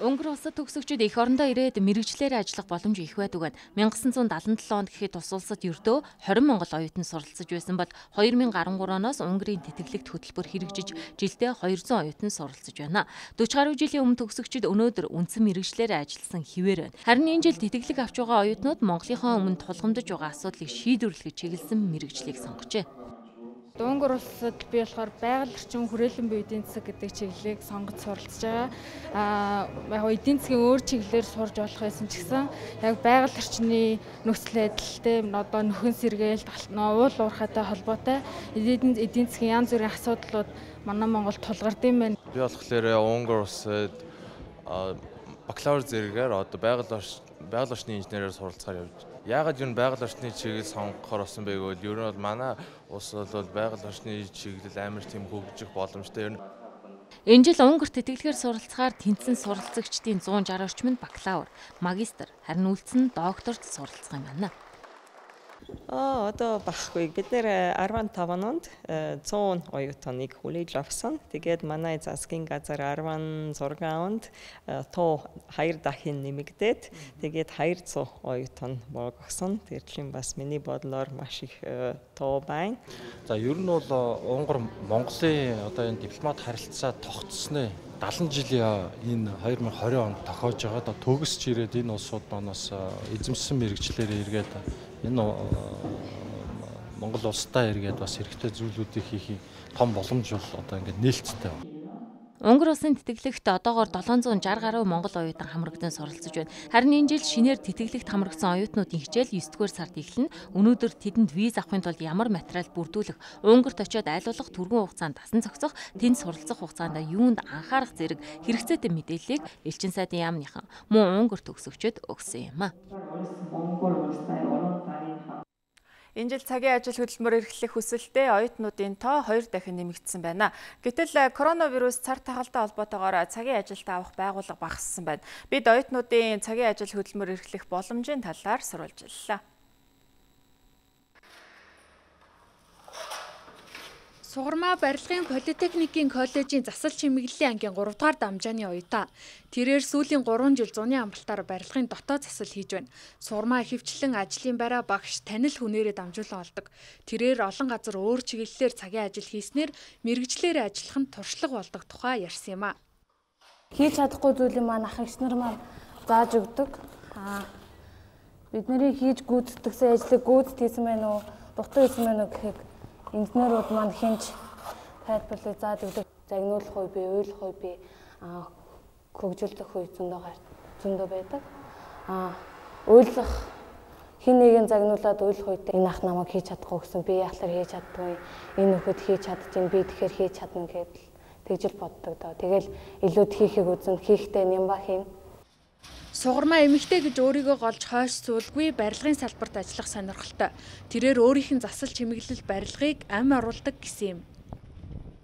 [SPEAKER 14] Унгар улсад төгсөгчид эх орондоо ирээд мэргэжлээр ажиллах боломж их байдаг. 천구 дагалдаа επτээ онд гэхэд тус улсад ердөө хорин монгол оюутан суралцж байсан бол хоёр мянга арван гурав оноос Унгарын тэтгэлэгт хөтөлбөр хэрэгжиж жилдээ хоёр зуун оюутан суралцж байна. дөрвөн гаруй жилийн өмнө төгсөгчид өнөөдөр үндсэн мэргэжлээр ажилласан хിവэр байна. Харин энэ жил тэтгэлэг авч байгаа оюутнууд Монголынхаа өмнө тулгамдж байгаа асуудлыг шийдвэрлэхэд чиглэсэн мэргэжлийг сонгожээ.
[SPEAKER 8] Унгар улсад би болохоор байгаль орчин хүрээлэн буй эдийн засаг гэдэг чиглэлийг сонгож суралцж байгаа. Аа яг эдийн засгийн өөр чиглэлээр сурж болох байсан ч гэсэн яг байгаль орчны нөхцөл байдалтай одоо нөхөн сэргээл уул уурхайтай холбоотой эдийн засгийн янз бүрийн асуудлууд манай Монголд тулгардсан байна.
[SPEAKER 10] Би болохоор Унгар улсад бакалавр зэрэгээр одоо байгаль орчин байгаль орчны инженерээр суралцахаар явж. Яагаад юу байгаль орчны чиглэл сонгохоор болсон бэ гэвэл ер нь бол манай улс бол байгаль орчны чиглэл амар тийм хөгжих боломжтой ер нь.
[SPEAKER 14] Энэ жил Унгар тэтгэлгээр суралцахаар тэнцсэн суралцагчдын зуун шарх орчим нь бакалавр, магистр, харин үлдсэн нь докторт суралцах юм байна.
[SPEAKER 11] Аа одоо багхгүй бид нэр арван таван онд зуун оюутныг хүлээж авсан. Тэгээд манай засгийн газар арван зураг онд тоо хоёр дахин нэмэгдээд тэгээд хоёр зуун оюутан болгосон. Тэрчлийн бас миний бодлоор маш их тоо байна.
[SPEAKER 15] За ер нь бол Унгар Монголын одоо энэ дипломат харилцаа тогтсны дагалан жилийн энэ хоёр мянга хорин онд тохиож байгаа. Одоо төгсч ирээд энэ улсууд манаас эзэмшсэн мэргэжлээр эргээд энэ Монгол улстай эргээд бас хэрэгтэй зүйлүүдийг хийхийг том боломж бол одоо ингээд нээлттэй байна.
[SPEAKER 14] Унгар улсын тэтгэлэгт одоогоор долоон зуун шарх гаруй монгол оюутан хамрагдан суралцж байна. Харин энэ жил шинээр тэтгэлэгт хамрагдсан оюутнуудын хичээл девять дугаар сард эхэлнэ. Өнөөдөр тэдэнд виз авахын тулд ямар материал бүрдүүлэх, Унгарт очиод айлуулах түргэн хугацаанд дасан зохицох, тэнд суралцах хугацаанд юунд анхаарах зэрэг хэрэгцээтэй мэдээллийг Элчин сайдын яамныхан мөн Унгар төгсөгчөд өгсөн юм а.
[SPEAKER 1] Энэ жил цагийн ажил хөдөлмөр эрхлэх хүсэлтэд оюутнуудын тоо хоёр дахин нэмэгдсэн байна. Гэтэл коронавирус цар тахалтай холбоотойгоор цагийн ажилд авах байгууллага багассан байна. Бид оюутнуудын цагийн ажил хөдөлмөр эрхлэх боломжийн талаар сурвалжиллаа.
[SPEAKER 17] Сугармаа барилгын политехникийн коллежийн засал чимэглэлийн ангийн гурав дахь дамжааны оюутан. Тэрээр сүүлийн гурван жил зуны амралтаар барилгын дотоод засал хийж байна. Сугармаа ихэвчлэн ажлын байраа багш танил хүнээрээ дамжуулан олдог. Тэрээр олон газар өөр чиглэлээр цагийн ажил хийснээр мэргэжлээр ажиллах нь туршлага болдог тухай ярьсан юм а.
[SPEAKER 25] Хийж чадахгүй зүйлийг маань ах эгч нар маань зааж өгдөг. Аа бидний хийж гүйцэтгэсэн ажлыг гүйцэд хийсэн байна уу, дутуу хийсэн байна уу гэхийг инженерууд маань хинж тайлбарлаж заад өгдөг. загнуулах үе бий, уйлах үе бий, хөгжүүлэх үе зөндөө зөндөө байдаг. Аа уйлах хин нэгийг загнуулаад уйлах үедээ энэ ах намайг хийж чадахгүй гэсэн би яахлаар хийж чаддгүй, энэ нөхөд хийж чадчих би тэгэхээр хийж чадна гэдэл тэгжил боддог доо. Тэгэл илүүд хийхийг үзэн хийхдээ нямба хийн.
[SPEAKER 17] Сугармаа эмэгтэй гэж өөрийгөө голж хойш суулгүй барилгын салбарт ажиллах сонирхолтой. Тэрээр өөрийнх нь засал чимэглэл барилгыг ам оруулдаг гэсэн юм.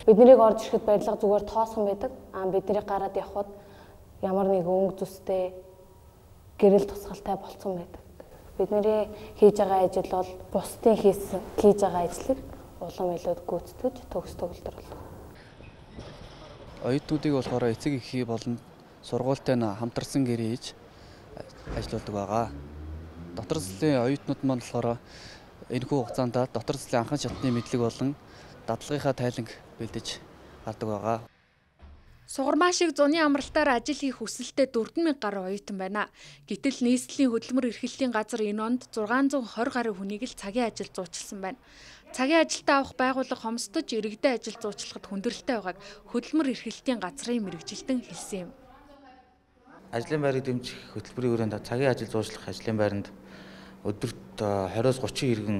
[SPEAKER 25] Биднийг орж ирэхэд барилга зүгээр тоосхон байдаг. Аа бидний гараад явхад ямар нэг өнгө зүстэй гэрэл тусгалтай болцсон байдаг. Бидний хийж байгаа ажил бол бусдын хийсэн хийж байгаа ажлыг улам илүүд гүйцэтгэж төгс төгөлдөр болдог.
[SPEAKER 3] Оюутнуудыг болохоор эцэг эхий болон сургуультай нь хамтарсан гэрээ хийж ажилладаг байгаа. Дотор заслын оюутнууд маань болохоор энэхүү хугацаанд дотор заслын анхан шатны мэдлэг болон дадлагынхаа тайланг бэлдэж гардаг байгаа.
[SPEAKER 17] Сугармаа шиг зуны амралтаар ажил хийх хүсэлтэй дөрвөн мянга гаруй оюутан байна. Гэтэл нийслэлийн хөдөлмөр эрхлэлийн газар энэ онд зургаан зуун хорь гаруй хүнийг л цагийн ажилд зуучилсан байна. Цагийн ажилтаа авах байгууллага хомсдож иргэдийн ажил зуучлахад хүндрэлтэй байгааг хөдөлмөр эрхлэлтийн газрын мэргэжилтэн хэлсэн юм.
[SPEAKER 9] Ажлын байрыг дэмжих хөтөлбөрийн хүрээнд цагийн ажил зуучлах ажлын байранд өдөрт двадцать гучин иргэн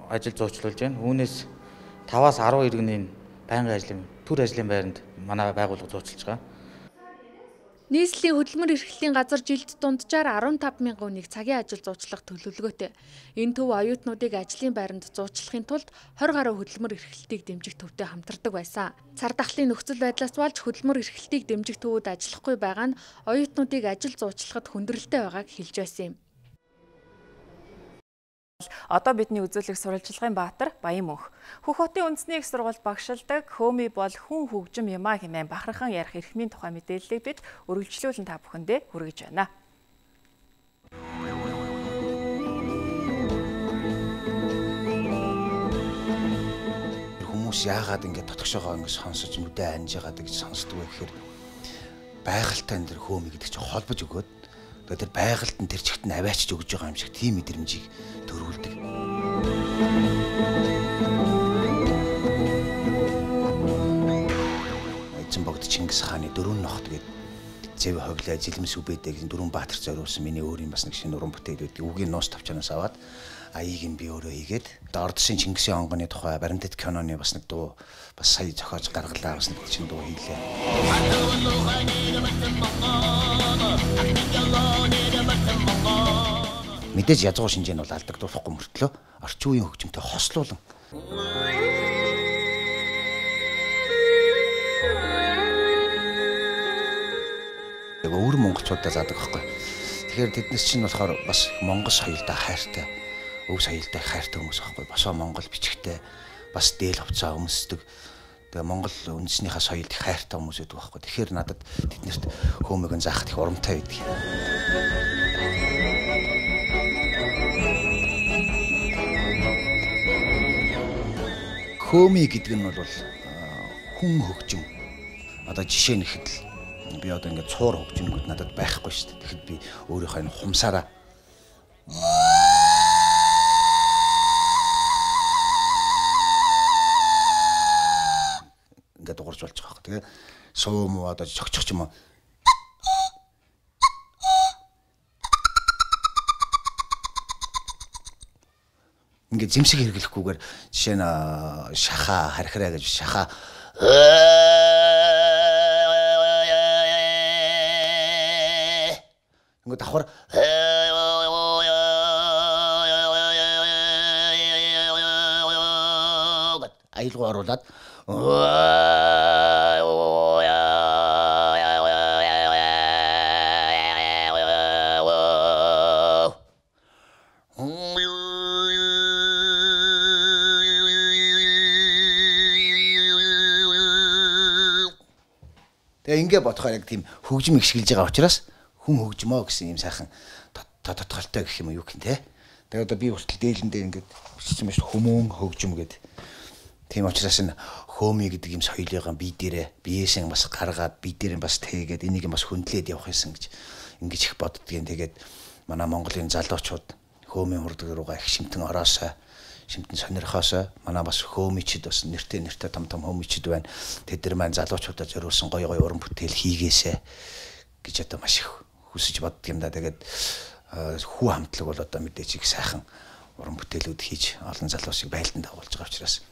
[SPEAKER 9] ажил зуучлуулж байна. Үүнээс таваас арван иргэний байнгын ажлын төр ажлын байранд манай байгууллага зуучилж байгаа.
[SPEAKER 17] Нийслэлийн хөдөлмөр эрхлэлийн газар жилд дунджаар арван таван мянган хүнийг цагийн ажил зуучлах төлөвлөгөөтэй. Энэ төв оюутнуудыг ажлын байранд зуучлахын тулд хорь гаруй хөдөлмөр эрхлэлтийг дэмжих төвтэй хамтардаг байсан. Цар тахлын нөхцөл байдлаас болж хөдөлмөр эрхлэлтийг дэмжих төвүүд ажиллахгүй байгаа нь оюутнуудыг ажил зуучлахад хүндрэлтэй байгааг хэлж байсан юм.
[SPEAKER 1] Одоо бидний үзүүлэх сурвалжлагын баатар Баян мөнх. Хөх хотын үндэсний их сургууль багшилдаг хөөми бол хүн хөгжим юмаа хэмээн бахархан ярих эрхмийн тухай мэдээллийг бид үргэлжлүүлэн та бүхэндээ хүргэж байна.
[SPEAKER 12] Хүмүүс яагаад ингэ дотгошоогоо ингэ сонсож мүдэ анж яагаад гэж сонсдог вэ гэхээр байгальтай энэ хөөми гэдэг чинь холбож өгөөд тэр байгальд нь тэр чигт нь аваачж өгж байгаа юм шиг тийм мэдрэмжийг төрүүлдэг. Эцэн богд Чингис хааны дөрвөн нохт гээд зэв хоглоо жилмс үбэдэг дөрвөн баатар зориулсан миний өөрийн бас нэг шинэ уран бүтээл байдаг. Үгийн нуус тавчаанаас аваад аяыг нь би өөрөө хийгээд Ордсын Чингисийн онгоны тухай баримтат киноны бас нэг дуу бас сая зохиож гаргалаа бас нэг чинь дуу хийлээ. Мэдээж язгуу шинжээ нь бол алдагдуулахгүй мөртлөө орчин үеийн хөгжимтэй хослуулан яг өөр монголчуудаа заадаг байхгүй. Тэгэхээр тэднес чинь болохоор бас монгол соёлдоо хайртай, өв соёлдоо хайртай хүмүүс байхгүй. Босоо монгол бичгтэй, бас дээл хувцас өмсдөг. Тэгээ монгол үндэснийхээ соёлд их хайртай хүмүүс байдаг байхгүй. Тэгэхээр надад тэднэрт хөөмийг нь заахад их урамтай байдаг. Хөөми гэдэг нь бол хүн хөгжим. Одоо жишээ нэхэд л би одоо ингээд цуур хөгжимгүүд надад байхгүй шүү дээ. Тэгэхэд би өөрийнхөө энэ хумсаараа ингээд дуурж болж байгаа хэрэг. Тэгээ суу муу одоо чогчох юм уу. Ингээд зэмсэг хэрэглэхгүйгээр жишээ нь шаха хархираа гэж шаха ингээд давхар аялгаа оруулаад тэгээ ингээ бодохоор яг тийм хөгжим ихшгэлж байгаа учраас хүн хөгжмөө гэсэн юм сайхан тодтолтой гэх юм уу юу гэх юм те. Тэгээ одоо би хүртэл дээлэндээ ингээд бичсэн байж хүмүүн хөгжим гэдэг. Тийм учраас энэ хөөми гэдэг юм соёлыгаа би дээрээ биеэсэн бас гаргаад би дээрээ бас тэгээд энийг бас хөндлөөд явах юмсан гэж ингэж их боддгийн. Тэгээд манай Монголын залуучууд хөөмийн хурдаг руугаа их шимтэн ороосоо шимтэн сонирхоосоо манай бас хөөмичд бас нэртэй нэртэй том том хөөмичд байна. Тэд нар маань залуучуудад зориулсан гоё гоё уран бүтээл хийгээсэ гэж одоо маш их хүсэж боддог юм да. Тэгээд хүү хамтлаг бол одоо мэдээж их сайхан уран бүтээлүүд хийж олон залуусыг байлдан дагуулж байгаа учраас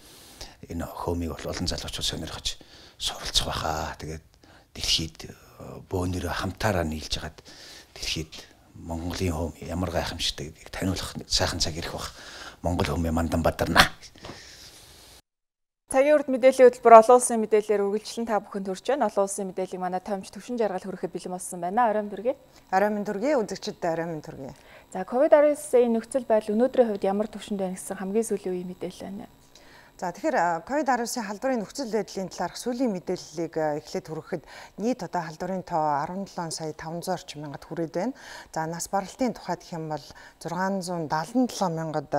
[SPEAKER 12] энэ хөөмийг бол олон залуучууд сонирхож суралцах байхаа. Тэгээд дэлхийд бөөнөрөө хамтаараа нийлж хагаад дэлхийд Монголын хөөм ямар гайхамшигтай гэдгийг таниулах сайхан цаг ирэх баг. Монгол хөөмийн мандан бадарна.
[SPEAKER 1] Цагийн урд мэдээллийн хөтөлбөр олон улсын мэдээлэлээр үргэлжлэн та бүхэнд хүрч байна. Олон улсын мэдээллийг манай томч төвшин жаргал хүрэхэд бэлэн болсон байна. Оройн дүргээ.
[SPEAKER 13] Оройн дүргээ, үзэгчдэд оройн дүргээ.
[SPEAKER 1] За, ковид арван девятын нөхцөл байдал өнөөдрийн хувьд ямар түвшинд байна гэсэн хамгийн сүүлийн үеийн мэдээлэл байна.
[SPEAKER 13] За тэгэхээр ковид арван девятын халдварын нөхцөл байдлын талаарх сүүлийн мэдээллийг эхлээд хүрэхэд нийт одоо халдварын тоо арван долоон сая таван зуун орчим мянгад хүрээд байна. За нас баралтын тухайд гэх юм бол зургаан зуун даалан долоон мянгад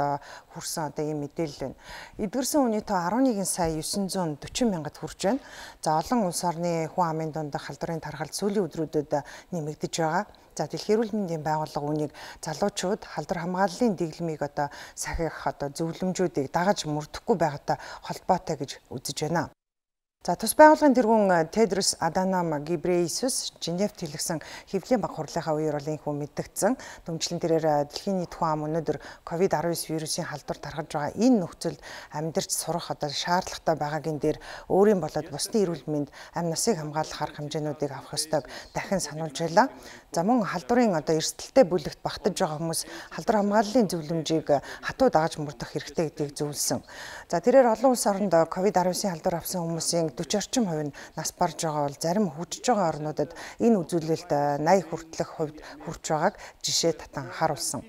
[SPEAKER 13] хүрсэн одоо ийм мэдээлэл байна. Эдгэрсэн хүний тоо арван нэгэн сая девятьсот сорок мянгад хүрч байна. За олон улс орны хүн амын дунд халдварын тархалт сүүлийн өдрүүдэд нэмэгдэж байгаа. За дэлхийн эрүүл мэндийн байгууллага үүнийг залуучууд халдвар хамгааллын дэглэмийг одоо сахих одоо зөвлөмжүүдийг дагаж мөрдөхгүй байгаатай холбоотой гэж үзэж байна. За тус байгууллагын тэргүүн Тедрос Аданом Гебрейесус Женевт хэлсэн хэвлэлийн баг хурлынхаа үеэр бол инхүү мэдгдсэн. Дүнчлэн тэрээр дэлхийн нийт хүн ам өнөөдөр ковид арван девять вирусын халдвар тархаж байгаа энэ нөхцөлд амьдарч сурах одоо шаардлагатай байгаагийн дээр өөрийн болоод бусдын эрүүл мэнд амь насыг хамгаалах арга хэмжээнүүдийг авах ёстойг дахин сануулж байлаа. За мөн халдварын одоо эрсдэлтэй бүлэгт багтаж байгаа хүмүүс халдвар хамгааллын зөвлөмжийг хатуу дагаж мөрдөх хэрэгтэй гэдгийг зөвлөсөн. За тэрээр олон улс оронд ковид арван девятын халдвар авсан хүмүүсийн forty орчим хувь нь нас барж байгаа бол зарим хөгжиж байгаа орнуудад энэ үзүүлэлт eighty хүртэлх хувьд хүрч байгааг жишээ татан харуулсан.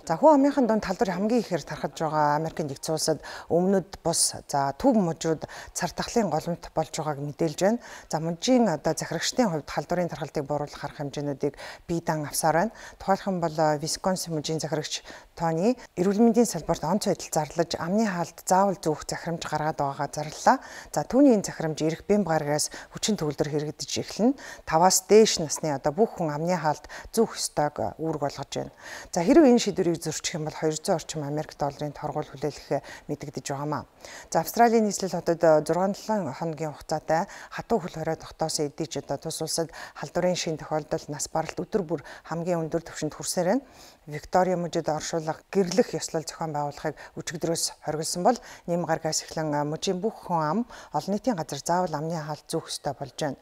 [SPEAKER 13] За хүн амынхан дунд халдвар хамгийн ихээр тархаж байгаа Америкийн нэгдсэн улсад өмнөд бус за төв мужууд цар тахлын голомт болж байгааг мэдээлж байна. За мужийн одоо захирагчдын хувьд халдварын тархалтыг бууруулах арга хэмжээнүүдийг бие даан авсаар байна. Тухайлхан бол Висконсин мужийн захирагч Тони эрүүл мэндийн салбарт онц байдал зарлаж амны хаалт заавал зүүх захирамж гаргаад байгаагаа зарлаа. За түүний энэ захирамж ирэх бэм гарагаас хүчин төгөлдөр хэрэгдэж эхэлнэ. таваас дээш насны одоо бүх хүн амны хаалт зүүх ёстойг үүрэг болгож байна. За хэрвээ энэ шийдвэрийг зөрчих юм бол two hundred орчим Америк долларын торгуул хүлээлгэх мэдэгдэж байгаамаа. За Австралийн нийслэл хотод six seven хоногийн хугацаатай хатуу хөл хорой тогтоосон эдийч одоо тус улсад халдварын шин тохиолдолд нас баралт өдөр бүр хамгийн өндөр түвшинд хүрсээр байна. Виктория мужид оршуулга гэрлэх ёслол зохион байгуулахыг өчигдрөөс хориглосон бол нэм гаргаас эхлэн мужийн бүх хүн ам олон нийтийн газар заавал амны хаалт зүүх ёстой болж байна.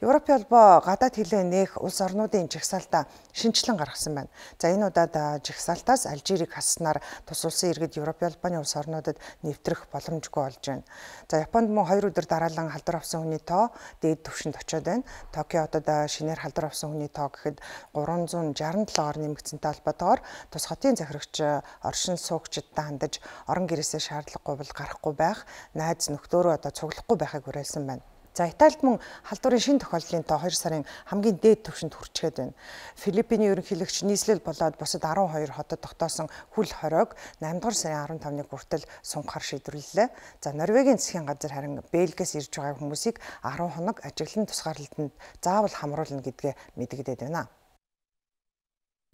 [SPEAKER 13] Европын холбоо гадаад хилээ нээх улс орнуудын жагсаалтаа шинжилэн гаргасан байна. За энэ удаад жагсаалтаас Алжирийг хаснаар тус улсын иргэд Европын холбооны улс орнуудад нэвтрэх боломжгүй болж байна. За Японд мөн хоёр өдөр дараалан халдвар авсан хүний тоо дээд түвшинд очиод байна. Токио хотод шинээр халдвар авсан хүний тоо гэхэд three sixty seven-оор нэмэгдсэнтэй холбоотойгоор тус хотын захирагч оршин суугчдад хандаж орон гэрээсээ шаардлагагүй бол гарахгүй байх, найз нөхдөөрөө одоо цуглахгүй байхыг уриалсан байна. За Италид мөн халдварын шин тохиолдлын тоо two сарын хамгийн дээд түвшинд хүрчгээд байна. Филиппиний ерөнхийлөгч нийслэл болоод бусад twelve хотод тогтоосон хүл хоройг eight дугаар сарын fifteen-ны хүртэл сунгахаар шийдвэрлэлээ. За Норвегийн засгийн газар харин Бельгиэс ирж байгаа хүмүүсийг ten хоног ажиглан тусгаарлалтанд заавал хамруулна гэдгээ мэдэгдээд байна.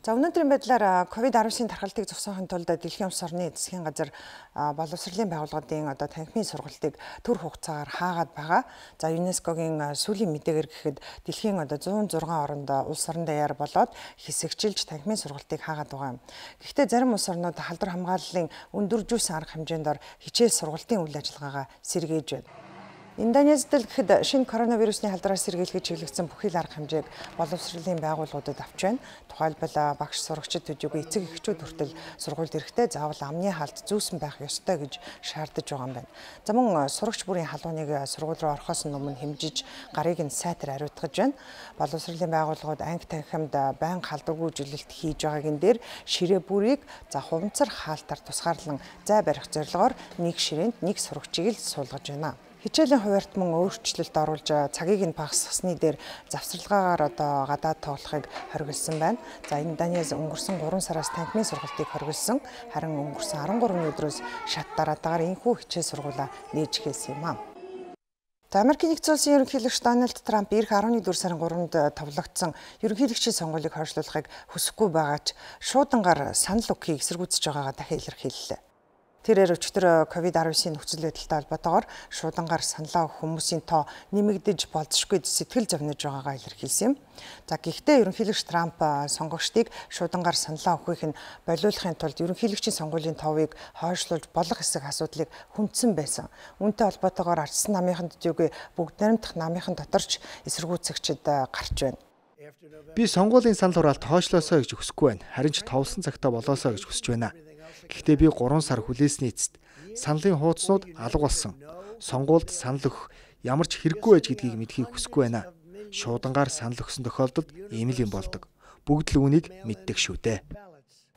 [SPEAKER 13] За өнөөдрийн байдлаар ковид арван девятын тархалтыг зогсоохын тулд дэлхийн улс орны засгийн газар боловсролын байгууллагын одоо танхимын сургалтыг төр хугацаагаар хаагаад байгаа. За ЮНЕСКОгийн сүүлийн мэдээгээр гэхэд дэлхийн одоо one oh six оронд улс орон даяар болоод хэсэгчилж танхимын сургалтыг хаагаад байгаа юм. Гэхдээ зарим улс орнууд халдвар хамгааллын өндөржүүлсэн арга хэмжээнд хичээл сургалтын үйл ажиллагаагаа сэргээж байна. Индонезид л гэхэд шинэ коронавирусны халдвараас сэргийлэхэд чиглэгдсэн бүхий л арга хэмжээг боловсролын байгууллагуудад авч байна. Тухайлбал багш сурагчид төдийгүй эцэг эхчүүд хүртэл сургуульд ирэхдээ заавал амны хаалт зүүсэн байх ёстой гэж шаардаж байгаа юм байна. За мөн сурагч бүрийн халууныг сургууль руу орохоос өмнө хэмжиж гарыг нь сайтар ариутгаж байна. Боловсролын байгууллагууд анги танхимд байнга халдваргүй жилэлт хийж байгаагийн дээр ширээ бүрийг за хуванцар хаалтаар тусгаарлан зай барих зорилгоор нэг ширээнд нэг сурагчийг л суулгаж байна. Хичээлийн хуваарьт мөн өөрчлөлт оруулж цагийг нь багасгасны дээр завсарлагаагаар одоо гадаад тоглохыг хориглосон байна. За Индонез өнгөрсөн three сараас танхимын сургалтыг хориглосон. Харин өнгөрсөн thirteen өдрөөс шат дараатаагаар энэхүү хичээл сургуулаа нээж эхэлсэн юм аа. За Америкийн нэгдсэн улсын ерөнхийлөгч Дональд Трамп ирэх арван нэгдүгээр сарын гуравнд товлогдсон ерөнхийлөгчийн сонгуулийг хойшлуулахыг хүсэхгүй байгаач шуудангаар санал өгөхийг эсэргүүцэж байгаагаа дахин илэрхийллээ. Тэрээр өчигдөр ковид арван девятын нөхцөл байдалтай холбоотойгоор шуудангаар саналаа өгөх хүмүүсийн тоо нэмэгдэж болзошгүй сэтгэл зовниж байгаагаа илэрхийлсэн юм. За гэхдээ ерөнхийлөгч Трамп сонгогчдыг шуудангаар саналаа өгөхийг нь болиулахын тулд ерөнхийлөгчийн сонгуулийн товыг хойшлуулж болох эсэх асуудлыг хүндсэн байсан. Үүнтэй холбоотойгоор ардсан намынхан төдийгүй бүгд найрамдах намынхан доторч эсэргүүцэгчид гарч байна.
[SPEAKER 18] Би сонгуулийн санал хураалт хойшлоосоо гэж хүсэхгүй байна. Харин ч товлсон цагтаа болоосоо гэж хүсэж байна. Гэхдээ би гурван сар хүлээсний эцэст саналын хуудснууд алга болсон. Сонгуульд санал өгөх ямар ч хэрэггүй байж гэдгийг мэдхийг хүсэхгүй байна. Шуудангаар санал өгсөн тохиолдолд ийм л юм болдог. Бүгд л үүнийг мэддэг шүү дээ.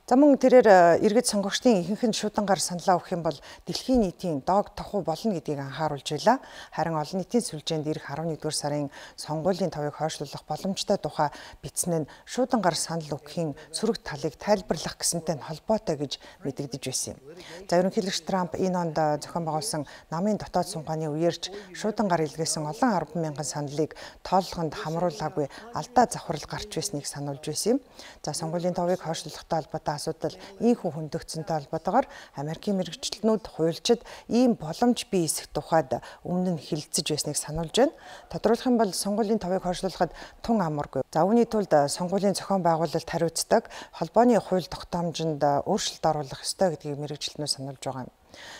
[SPEAKER 13] За мөн тэрээр иргэд сонгогчдын ихэнх нь шуудангаар саналаа өгөх юм бол дэлхийн нийтийн дог тохуу болно гэдгийг анхааруулж байла. Харин олон нийтийн сүлжээнд ирэх арван нэгдүгээр сарын сонгуулийн товыг хойшлуулах боломжтой тухай бичсэн нь шуудангаар санал өгөхийн сөрөг талыг тайлбарлах гэсэнтэй холбоотой гэж мэдэгдэж байсан юм. За ерөнхийлөгч Трамп энэ онд зохион байгуулсан намын дотоод сунгааны үеэрч шуудангаар илгээсэн олон арван мянган саналыг тооллоход хамруулаагүй алдаа завхрал гарч байсныг сануулж байсан юм. За сонгуулийн товыг хойшлуулахтай холбоотой асуудал ийхүү хөндөгцөнтэй холбоотойгоор Америкийн мэргэжилтнүүд хуульчид ийм боломж бий эсэх тухайд өмнө нь хэлэлцэж байсныг сануулж байна. Тодруулах юм бол сонгуулийн товыг хойшлуулахад тун амаргүй. За үүний тулд сонгуулийн зохион байгуулалт хариуцдаг холбооны хууль тогтоомжинд өөрчлөлт оруулах ёстой гэдгийг мэргэжилтнүүд сануулж байгаа юм.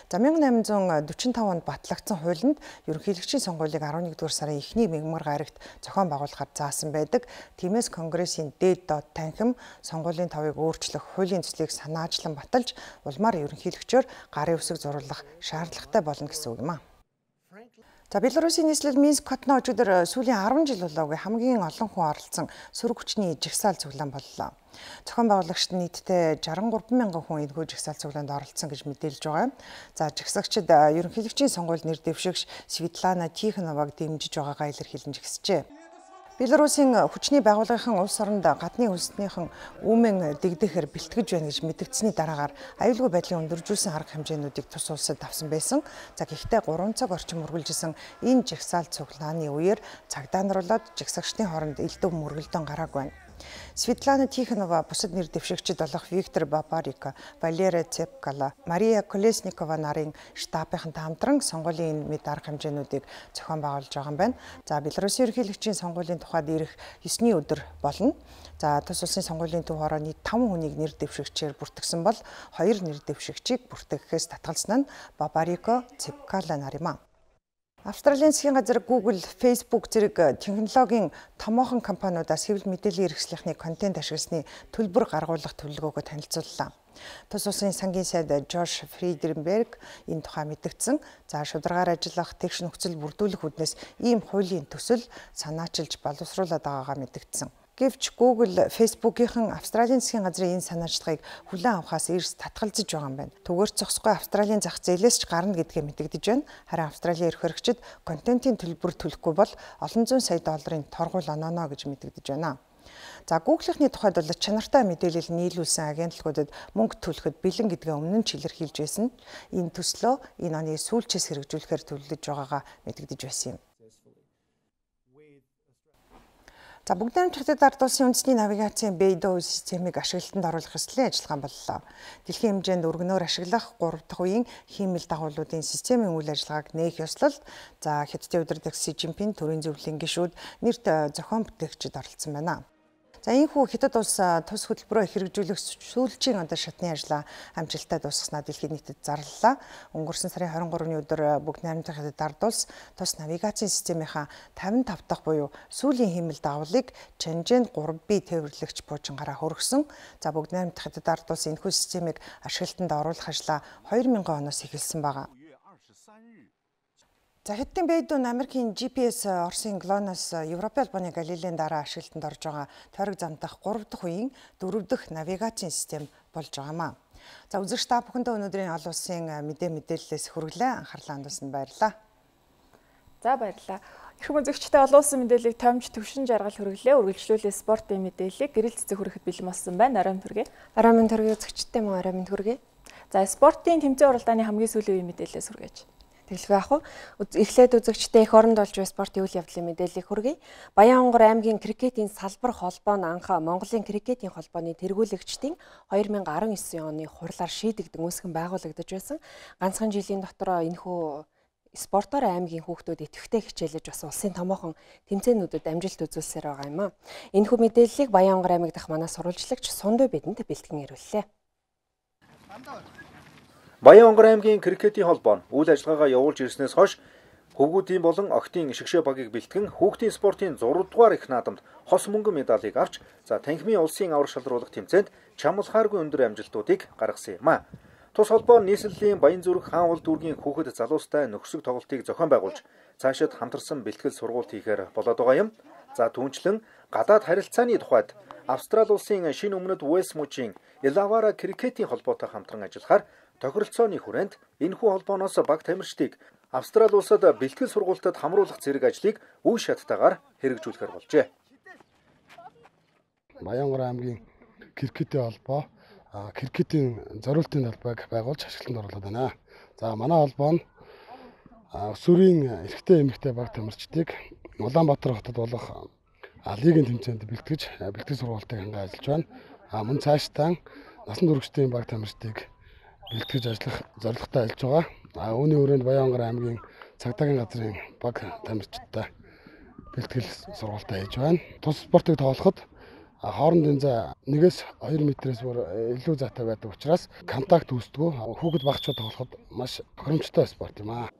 [SPEAKER 13] За мянга найман зуун дөрвөн таванд батлагдсан хуулинд ерөнхийлөгчийн сонгуулийг арван нэгдүгээр сарын эхний мягмар гарагт зохион байгуулахад заасан байдаг. Тиймээс Конгрессийн дээд доод танхим сонгуулийн товыг өөрчлөх хуулийн төслийг санаачлан баталж улмаар ерөнхийлөгчөөр гарын үсэг зуруулах шаардлагатай болно гэсэн үг юм а. За Белорусын нийслэл Минск хотно өчигдөр сүүлийн арван жил болоогүй хамгийн олон хүн оролцсон сөрөг хүчний жагсаал цуглаан боллоо. Зохион байгуулагчид нийтдээ жарган гурван мянган хүн энэхүү жагсаал цуглаанд оролцсон гэж мэдээлж байгаа. За жагсагчид ерөнхийлөгчийн сонгуульд нэр дэвшигч Светлана Тихоноваг дэмжиж байгаагаа илэрхийлэн жагсжээ. Белорусын хүчний байгууллагын улс оронд гадны хөлснийхэн үүмэн дэгдэхээр бэлтгэж байна гэж мэдэгдсэний дараагаар аюулгүй байдлын өндөржүүлсэн арга хэмжээнүүдийг тус улсад авсан байсан. За гэхдээ гурван цаг орчим үргэлжилсэн энэ жагсаал цуглааны үеэр цагдаанаруулаад жагсагчдын хооронд элдв мөргөлдөөн гараагүй байна. Светлана Тихонова бусад нэр дэвшигчид болох Виктор Бабарико, Валерия Цепкала, Мария Колесникова нарын штабынхантай хамтран сонгуулийн мэд арга хэмжээнүүдийг зохион байгуулж байгаа юм байна. За Белорусын ерөнхийлөгчийн сонгуулийн тухайд ирэх есний өдөр болно. За тус улсын сонгуулийн төв хороо нийт таван хүнийг нэр дэвшигчээр бүртгэсэн бол хоёр нэр дэвшигчийг бүртгэхээс татгалзсан нь Бабарико, Цепкала нар юм а. Австралийн засгийн газар Google, Facebook зэрэг технологийн томоохон компаниудаас хэвлэл мэдээллийн хэрэгслийнхний контент ашигласны төлбөр гаргуулах төлөвлөгөөгөө танилцууллаа. Тус улсын сангийн сайд Жош Фриденберг энэ тухай мэдгдсэн. За шударгаар ажиллах тэгш нөхцөл бүрдүүлэх үднэс ийм хуулийн төсөл санаачилж боловсруулад байгаагаа мэдгдсэн. Гэвч Google, Facebook-ийн Австралийн засгийн газрын энэ санаачлагыг хүлээн авахаас эрс татгалзаж байгаа юм байна. Түгээр зогсохгүй Австралийн зах зээлээс ч гарна гэдгээ мэдэгдэж байна. Харин Австралийн эрх хэрэгчид контентын төлбөр төлөхгүй бол олон зуун сая долларын торгуул онооно гэж мэдэгдэж байна. За Google-ийнхний тухайд бол чанартай мэдээлэл нийлүүлсэн агентлагуудад мөнгө төлөхөд бэлэн гэдгээ өмнө нь ч илэрхийлж байсан. Энэ төслөө энэ оны сүүлчээс хэрэгжүүлэхээр төлөвлөж байгаагаа мэдэгдэж байсан юм. За бүгд найрамдах ард улсын үндэсний навигацийн Beidou системийг ашиглалтанд оруулах ёслолын ажиллагаа боллоо. Дэлхийн хэмжээнд өргөнөөр ашиглах гурав дахь үеийн хиймэл дагуулуудын системийн үйл ажиллагааг нээх ёслол за Хятадын удирдагч Си Жинпин төрийн зөвлөлийн гишүүд нэрт зохион бүтээгчид оролцсон байна. За энэхүү Хятад улс тус хөтөлбөрөөр хэрэгжүүлэх сүүлчийн одоо шатны ажлаа амжилттай дуусгаснаа дэлхийн нийтэд зарлалаа. Өнгөрсөн сарын хорин гуравны өдөр бүгд найрамдах Хятад ард улс тус навигацийн системийнхаа тавин тав дахь буюу сүүлийн хиймэл дагуулыг Чанжэн гурав би тээвэрлэгч буужингаараа хөргсөн. За бүгд найрамдах Хятад ард улс энэхүү системийг ашиглалтанд оруулах ажлаа хоёр мянган оноос эхэлсэн байгаа. За Хятадын Beidou нь Америкийн Джи Пи Эс Оросын Глонас, Европын албаны Галилейн дараа ашиглалтанд орж байгаа тойрог замдах гурав дахь үеийн дөрөв дэх навигацийн систем болж байгаа юм а. За үзэгч та бүхэндээ өнөөдрийн олон улсын мэдээ мэдээллээс хүргэлээ. Анхаарлаа хандуулсанд баярлалаа.
[SPEAKER 1] За баярлалаа. Эрхэм үзэгчтэй олон улсын мэдээллийг томж төвшин жаргал хүргэлээ. Үргэлжлүүлээ спортын мэдээллийг гэрэл цэцэг хүрэхэд бэлэн болсон байна. Арай төргий.
[SPEAKER 19] Арай төргий үзэгчтэй мөн арай төргий.
[SPEAKER 1] За спортын тэмцээн уралдааны хамгийн сүүлийн үеийн мэдээллээс хүргэж.
[SPEAKER 19] Тэглэв яах вэ? Эхлээд үзэгчтэй эх оронд болж буй спортын үйл явдлын мэдээллийг хүргэе. Баянгор аймгийн крикетийн салбар холбоо нь анх Монголын крикетийн холбооны тэргүүлэгчдийн хоёр мянган арван девять оны хурлаар шийдэгдэн үүсгэн байгуулагдаж байсан. Ганцхан жилийн дотор энэхүү спортоор аймгийн хүүхдүүд идэвхтэй хичээлж бас улсын томоохон тэмцээнүүдэд амжилт үзүүлсээр байгаа юм а. Энэхүү мэдээллийг Баянгор аймаг дахь манай сурвалжлагч Сунду бидэнд бэлтгэн ирүүллээ.
[SPEAKER 20] Баянгор аймгийн крикетийн холбоо нь үйл ажиллагаагаа явуулж ирснээс хойш хөвгүүдийн болон охидын шигшээ багийг бэлтгэн хүүхдийн спортын зураг дугаар их наадамд хос мөнгөн медалийг авч за танхимын улсын аврах шалруулах тэмцээнд чамлахааргүй өндөр амжилтуудыг гаргасан юм а. Тус холбоо нийслэлийн Баян зүрх хаан улд дүүргийн хүүхэд залуустай нөхсөг тоглолтыг зохион байгуулж цаашид хамтарсан бэлтгэл сургалт хийхээр болоод байгаа юм. За түүнчлэн гадаад харилцааны тухайд Австрали улсын шинэ өмнөд Уэльс мужийн Илавара крикетийн холбоотой хамтран ажиллахаар тохиролцооны хүрээнд энэхүү холбооноос баг тамирчдыг Австрали улсад бэлтгэл сургалтад хамруулах зэрэг ажлыг үе шаттайгаар хэрэгжүүлэхээр болжээ.
[SPEAKER 4] Баянгор аймгийн крикетийн холбоо крикетийн зориултын талбайг байгуулж ашиглалтанд оруулаад байна. За манай холбоо нь өсвөрийн эрэгтэй эмэгтэй баг тамирчдыг Улаанбаатар хотод болох лигийн тэмцээнд бэлтгэж бэлтгэл сургалтыг ханган ажиллаж байна. А мөн цаашдаа насан туршидын баг тамирчдыг бэлтгэж ажиллах зорилготой ажиллаж байгаа. А үүний хүрээнд Баянгор аймгийн цагдаагийн газрын баг тамирчидтай бэлтгэл сургалтаа хийж байна. Тус спортыг тоглоход хоорондын зай нэгээс хоёр метрээс бүр илүү зайтай байдаг учраас контакт үүсдэг. Хүүхэд багчууд тоглоход маш тохиромжтой спорт юм аа.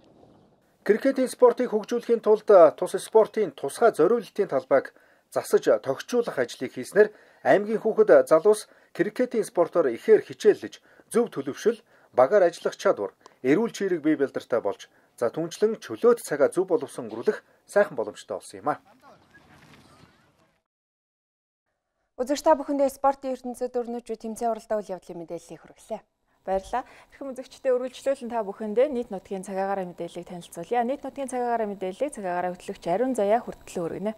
[SPEAKER 20] Крикетийн спортыг хөгжүүлэхийн тулд тус спортын тусгай зориулалтын талбайг засаж тохижуулах ажлыг хийснээр аймгийн хүүхэд залуус крикетийн спортоор ихээр хичээллэж зөв төлөвшил, багаар ажиллах чадвар, эрүүл чирэг бие бэлдэртэй болж за түнчлэн чөлөөт цагаа зөв боловсон өнгөрүүлэх сайхан боломжтой болсон юм а.
[SPEAKER 19] Үзэгч та бүхэндээ спортын ертөнцид өрнөж буй тэмцээн уралдаан үйл явдлын мэдээллийг хүргэлээ.
[SPEAKER 1] Баярлалаа. Хэрхэн үзэгчдээ үргэлжлүүлэн та бүхэндээ нийт нутгийн цагаагаараа мэдээллийг танилцуулъя. Нийт нутгийн цагаагаараа мэдээллийг цагаагаараа хөтлөгч Ариун Заяа хүртэлөө өргөнө.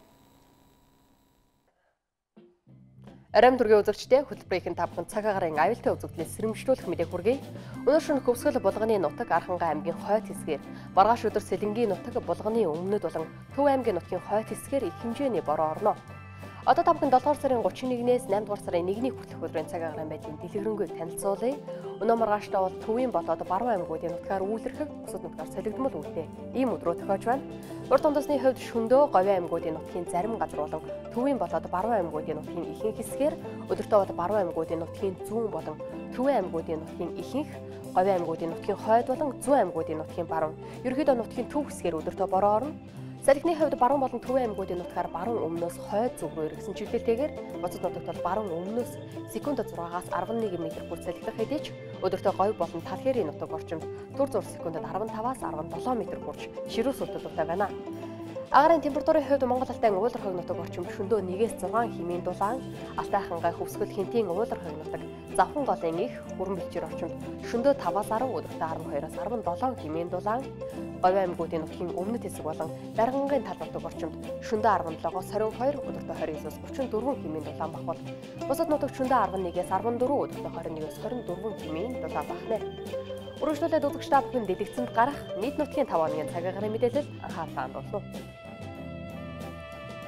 [SPEAKER 21] Арим төргийн үзэгчдээ хөтөлбөрийн та бүхэн цагаагарын аюултай үзэгдлээс сэрэмжлүүлэх мэдээг хүргэе. Өнөө шөнө Хөвсгөл булганы нутаг Архангай аймгийн хойд хэсгээр, маргааш өдөр Сэлэнгийн нутаг булганы өмнөд болон Төв аймгийн нутгийн хойд хэсгээр их хэмжээний бороо орно. Одоо та бүхэн долоодугаар сарын гучин нэгнээс наймдугаар сарын нэгний хүртэлх өдрийн цагаагаар байдлын дэлгэрэнгүй танилцуулъя. Өнөө маргааштай бол Төвийн болоод Баруун аймагуудын нутгаар үйлэрхэг, бусад нутгаар солигдмол үүдээ ийм өдрөө тохиож байна. Урд тундасны хувьд шөндөө Говийн аймагуудын нутгийн зарим газар болон Төвийн болоод Баруун аймагуудын нутгийн ихэнх хэсгээр, өдөртөө бол Баруун аймагуудын нутгийн зүүн болон Төвийн аймагуудын нутгийн ихэнх, Говийн аймагуудын нутгийн хойд болон зүүн аймагуудын нутгийн баруун, ерөнхийдөө нутгийн төв хэсгээр өдөртөө бороо орно. Салхины хувьд баруун болон Төвийн аймагуудын нутгаар баруун өмнөөс хойд зүг рүү эргэсэн чиглэлтэйгээр бусад нутагт бол баруун өмнөөс секундэд зургаас арван нэг метр бүр салхилах хэдий ч өдөртөө Говь болон Талхээрийн нутаг орчимд түр зур секундэд арван таваас арван долоо метр хүрч ширүү сүлтэлтэй байна. Агаарын температурын хувьд Монгол Алтай уулар хойг нутаг орчим шөндөө нэгээс зургаан хэмээн дулаан, Алтай хангай Хөвсгөл хинтийн уулар хойг нутаг Завхан голын их Хүрэн бэлчээр орчимд шөндөө таваас арав өдөртөө арван хоёроос арван долоо хэмээн дулаан, Говь аймагуудын нутгийн өмнөд хэсэг болон Даргангийн тал нутаг орчимд шөндөө арван долоогоос хорин хоёр өдөртөө хорин девээс гучин дөрвөн хэмээн дулаан бахвал бусад нутагт шөндөө арван нэгээс арван дөрвөн өдөртөө хорин нэгээс хорин дөрвөн хэмээн дулаан бахнэ. Үргэлжлүүлээд үзэгч та бүхэн дэлгэцэнд гарах нийт нутгийн тав хоногийн цагаагаар мэдээлэл анхаарлаа хандуулна.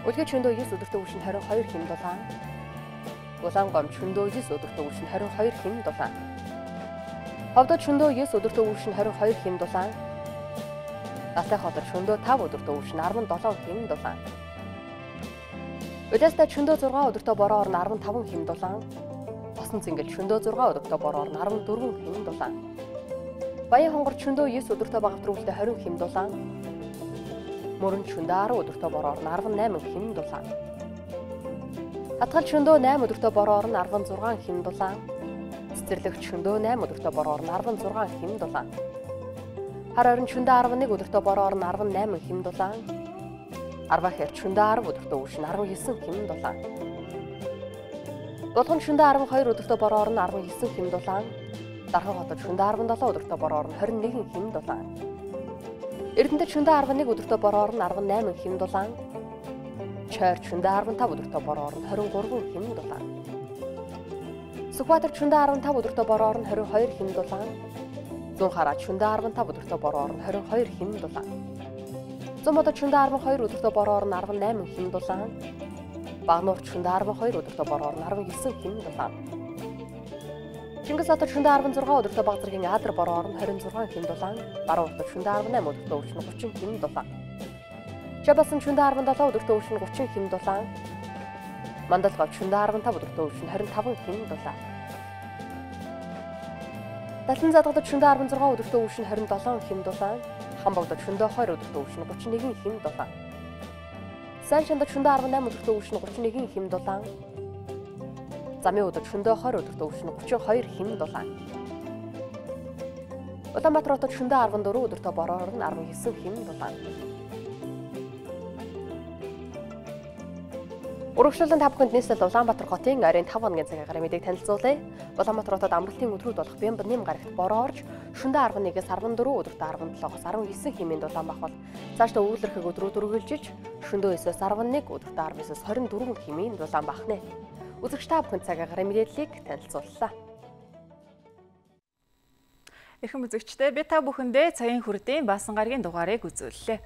[SPEAKER 21] Үлгэр шөндөө девээс өдөртөө үршин хорин хоёр хэм дулаан. Улаангом шөндөө девээс өдөртөө үршин хорин хоёр хэм дулаан. Ховдод шөндөө девээс өдөртөө үршин хорин хоёр хэм дулаан. Настай хотод шөндөө тав өдөртөө үршин арван долоо хэм дулаан. Өдөөстэй шөндөө зургаан өдөртөө бороо орно арван таван хэм дулаан. Босон цэнгэл шөндөө зургаан өдөртөө бороо орно арван дөрвөн хэм дулаан. Баян хонгор шөндөө девээс өдөртөө багавтрүүлэлтэй хорин хэм дулаан. Мөрөн шөндөө арав өдөртөө бороо орно арван найман хэм дулаан. Хатгал шөндөө найм өдөртөө бороо орно арван зургаан хэм дулаан. Цэцэрлэгт шөндөө найм өдөртөө бороо орно арван зургаан хэм дулаан. Хар орон шөндөө арван нэг өдөртөө бороо орно арван найман хэм дулаан. Арваа хэрт шөндөө арав өдөртөө үршин арван девэн хэм дулаан. Дулхан шөндөө арван хоёр өдөртөө бороо орно арван девэн хэм дулаан. Дархан хотод шөндөө арван долоо өдөртөө бороо орно хорин нэг хэм дулаан. Эрдэнэт шөндөө арван нэг өдөртөө бороо орно арван найман хэм дулаан. Чойр шөндөө арван тав өдөртөө бороо орно хорин гурван хэм дулаан. Сүхбаатар шөндөө арван тав өдөртөө бороо орно хорин хоёр хэм дулаан. зүүн хараа шөнөдөө арван тав өдөртөө бороо орон хорин хоёр хим дулаан. Зүүн модод шөнөдөө арван хоёр өдөртөө бороо орон арван найман хим дулаан. Багнуур шөнөдөө арван хоёр өдөртөө бороо орон арван девять хим дулаан. Чингис хотод шөнөдөө арван зургаан өдөртөө баг зэргийн Адар бороо орон двадцать шесть хим дулаан. Баруун хотод шөнөдөө арван восемь өдөртөө өвчин тридцать хим дулаан. Жабасан шөнөдөө арван семь өдөртөө өвчин тридцать хим дулаан. Мандалгав шөнөдөө арван пять өдөртөө өвчин двадцать пять хим дулаан. Далан задгадад шөнөдөө арван шесть өдөртөө өвчин двадцать seven хим дулаан. Хамбогдод шөнөдөө two өдөртөө өвчин thirty-one хим дулаан. Сайн шандад шөнөдөө арван eight өдөртөө өвчин thirty-one хим дулаан. Замын өдөрт шөнөдөө twenty өдөртөө өвчин thirty-two хим дулаан. Улаанбаатар хотод шөнөдөө арван four өдөртөө бороо орон nineteen хим дулаан. Урагшлалын та бүхэнд нийслэл Улаанбаатар хотын ойрын five хоногийн цаг агаарын мэдээг танилцуулъя. Улаанбаатар хотод амралтын өдрүүд болох Бямб нэм гарагт бороо орж шөнөдөө eleven-ээс fourteen өдөртөө sevenseven-аас nineteen хэмээн дулаан бахвал цаашдаа өвлөрхөг өдрүүд үргэлжилж шөнөдөө nine-ээс eleven өдөртөө twelve-ээс twenty-four хэмээн дулаан бахнэ. Үзэгч та бүхэнд цаг агаарын мэдээллийг танилцууллаа.
[SPEAKER 1] Эрхэм үзэгчдээ би та бүхэндээ цагийн хүрдийн баасан гарагийн дугаарыг үзүүллээ.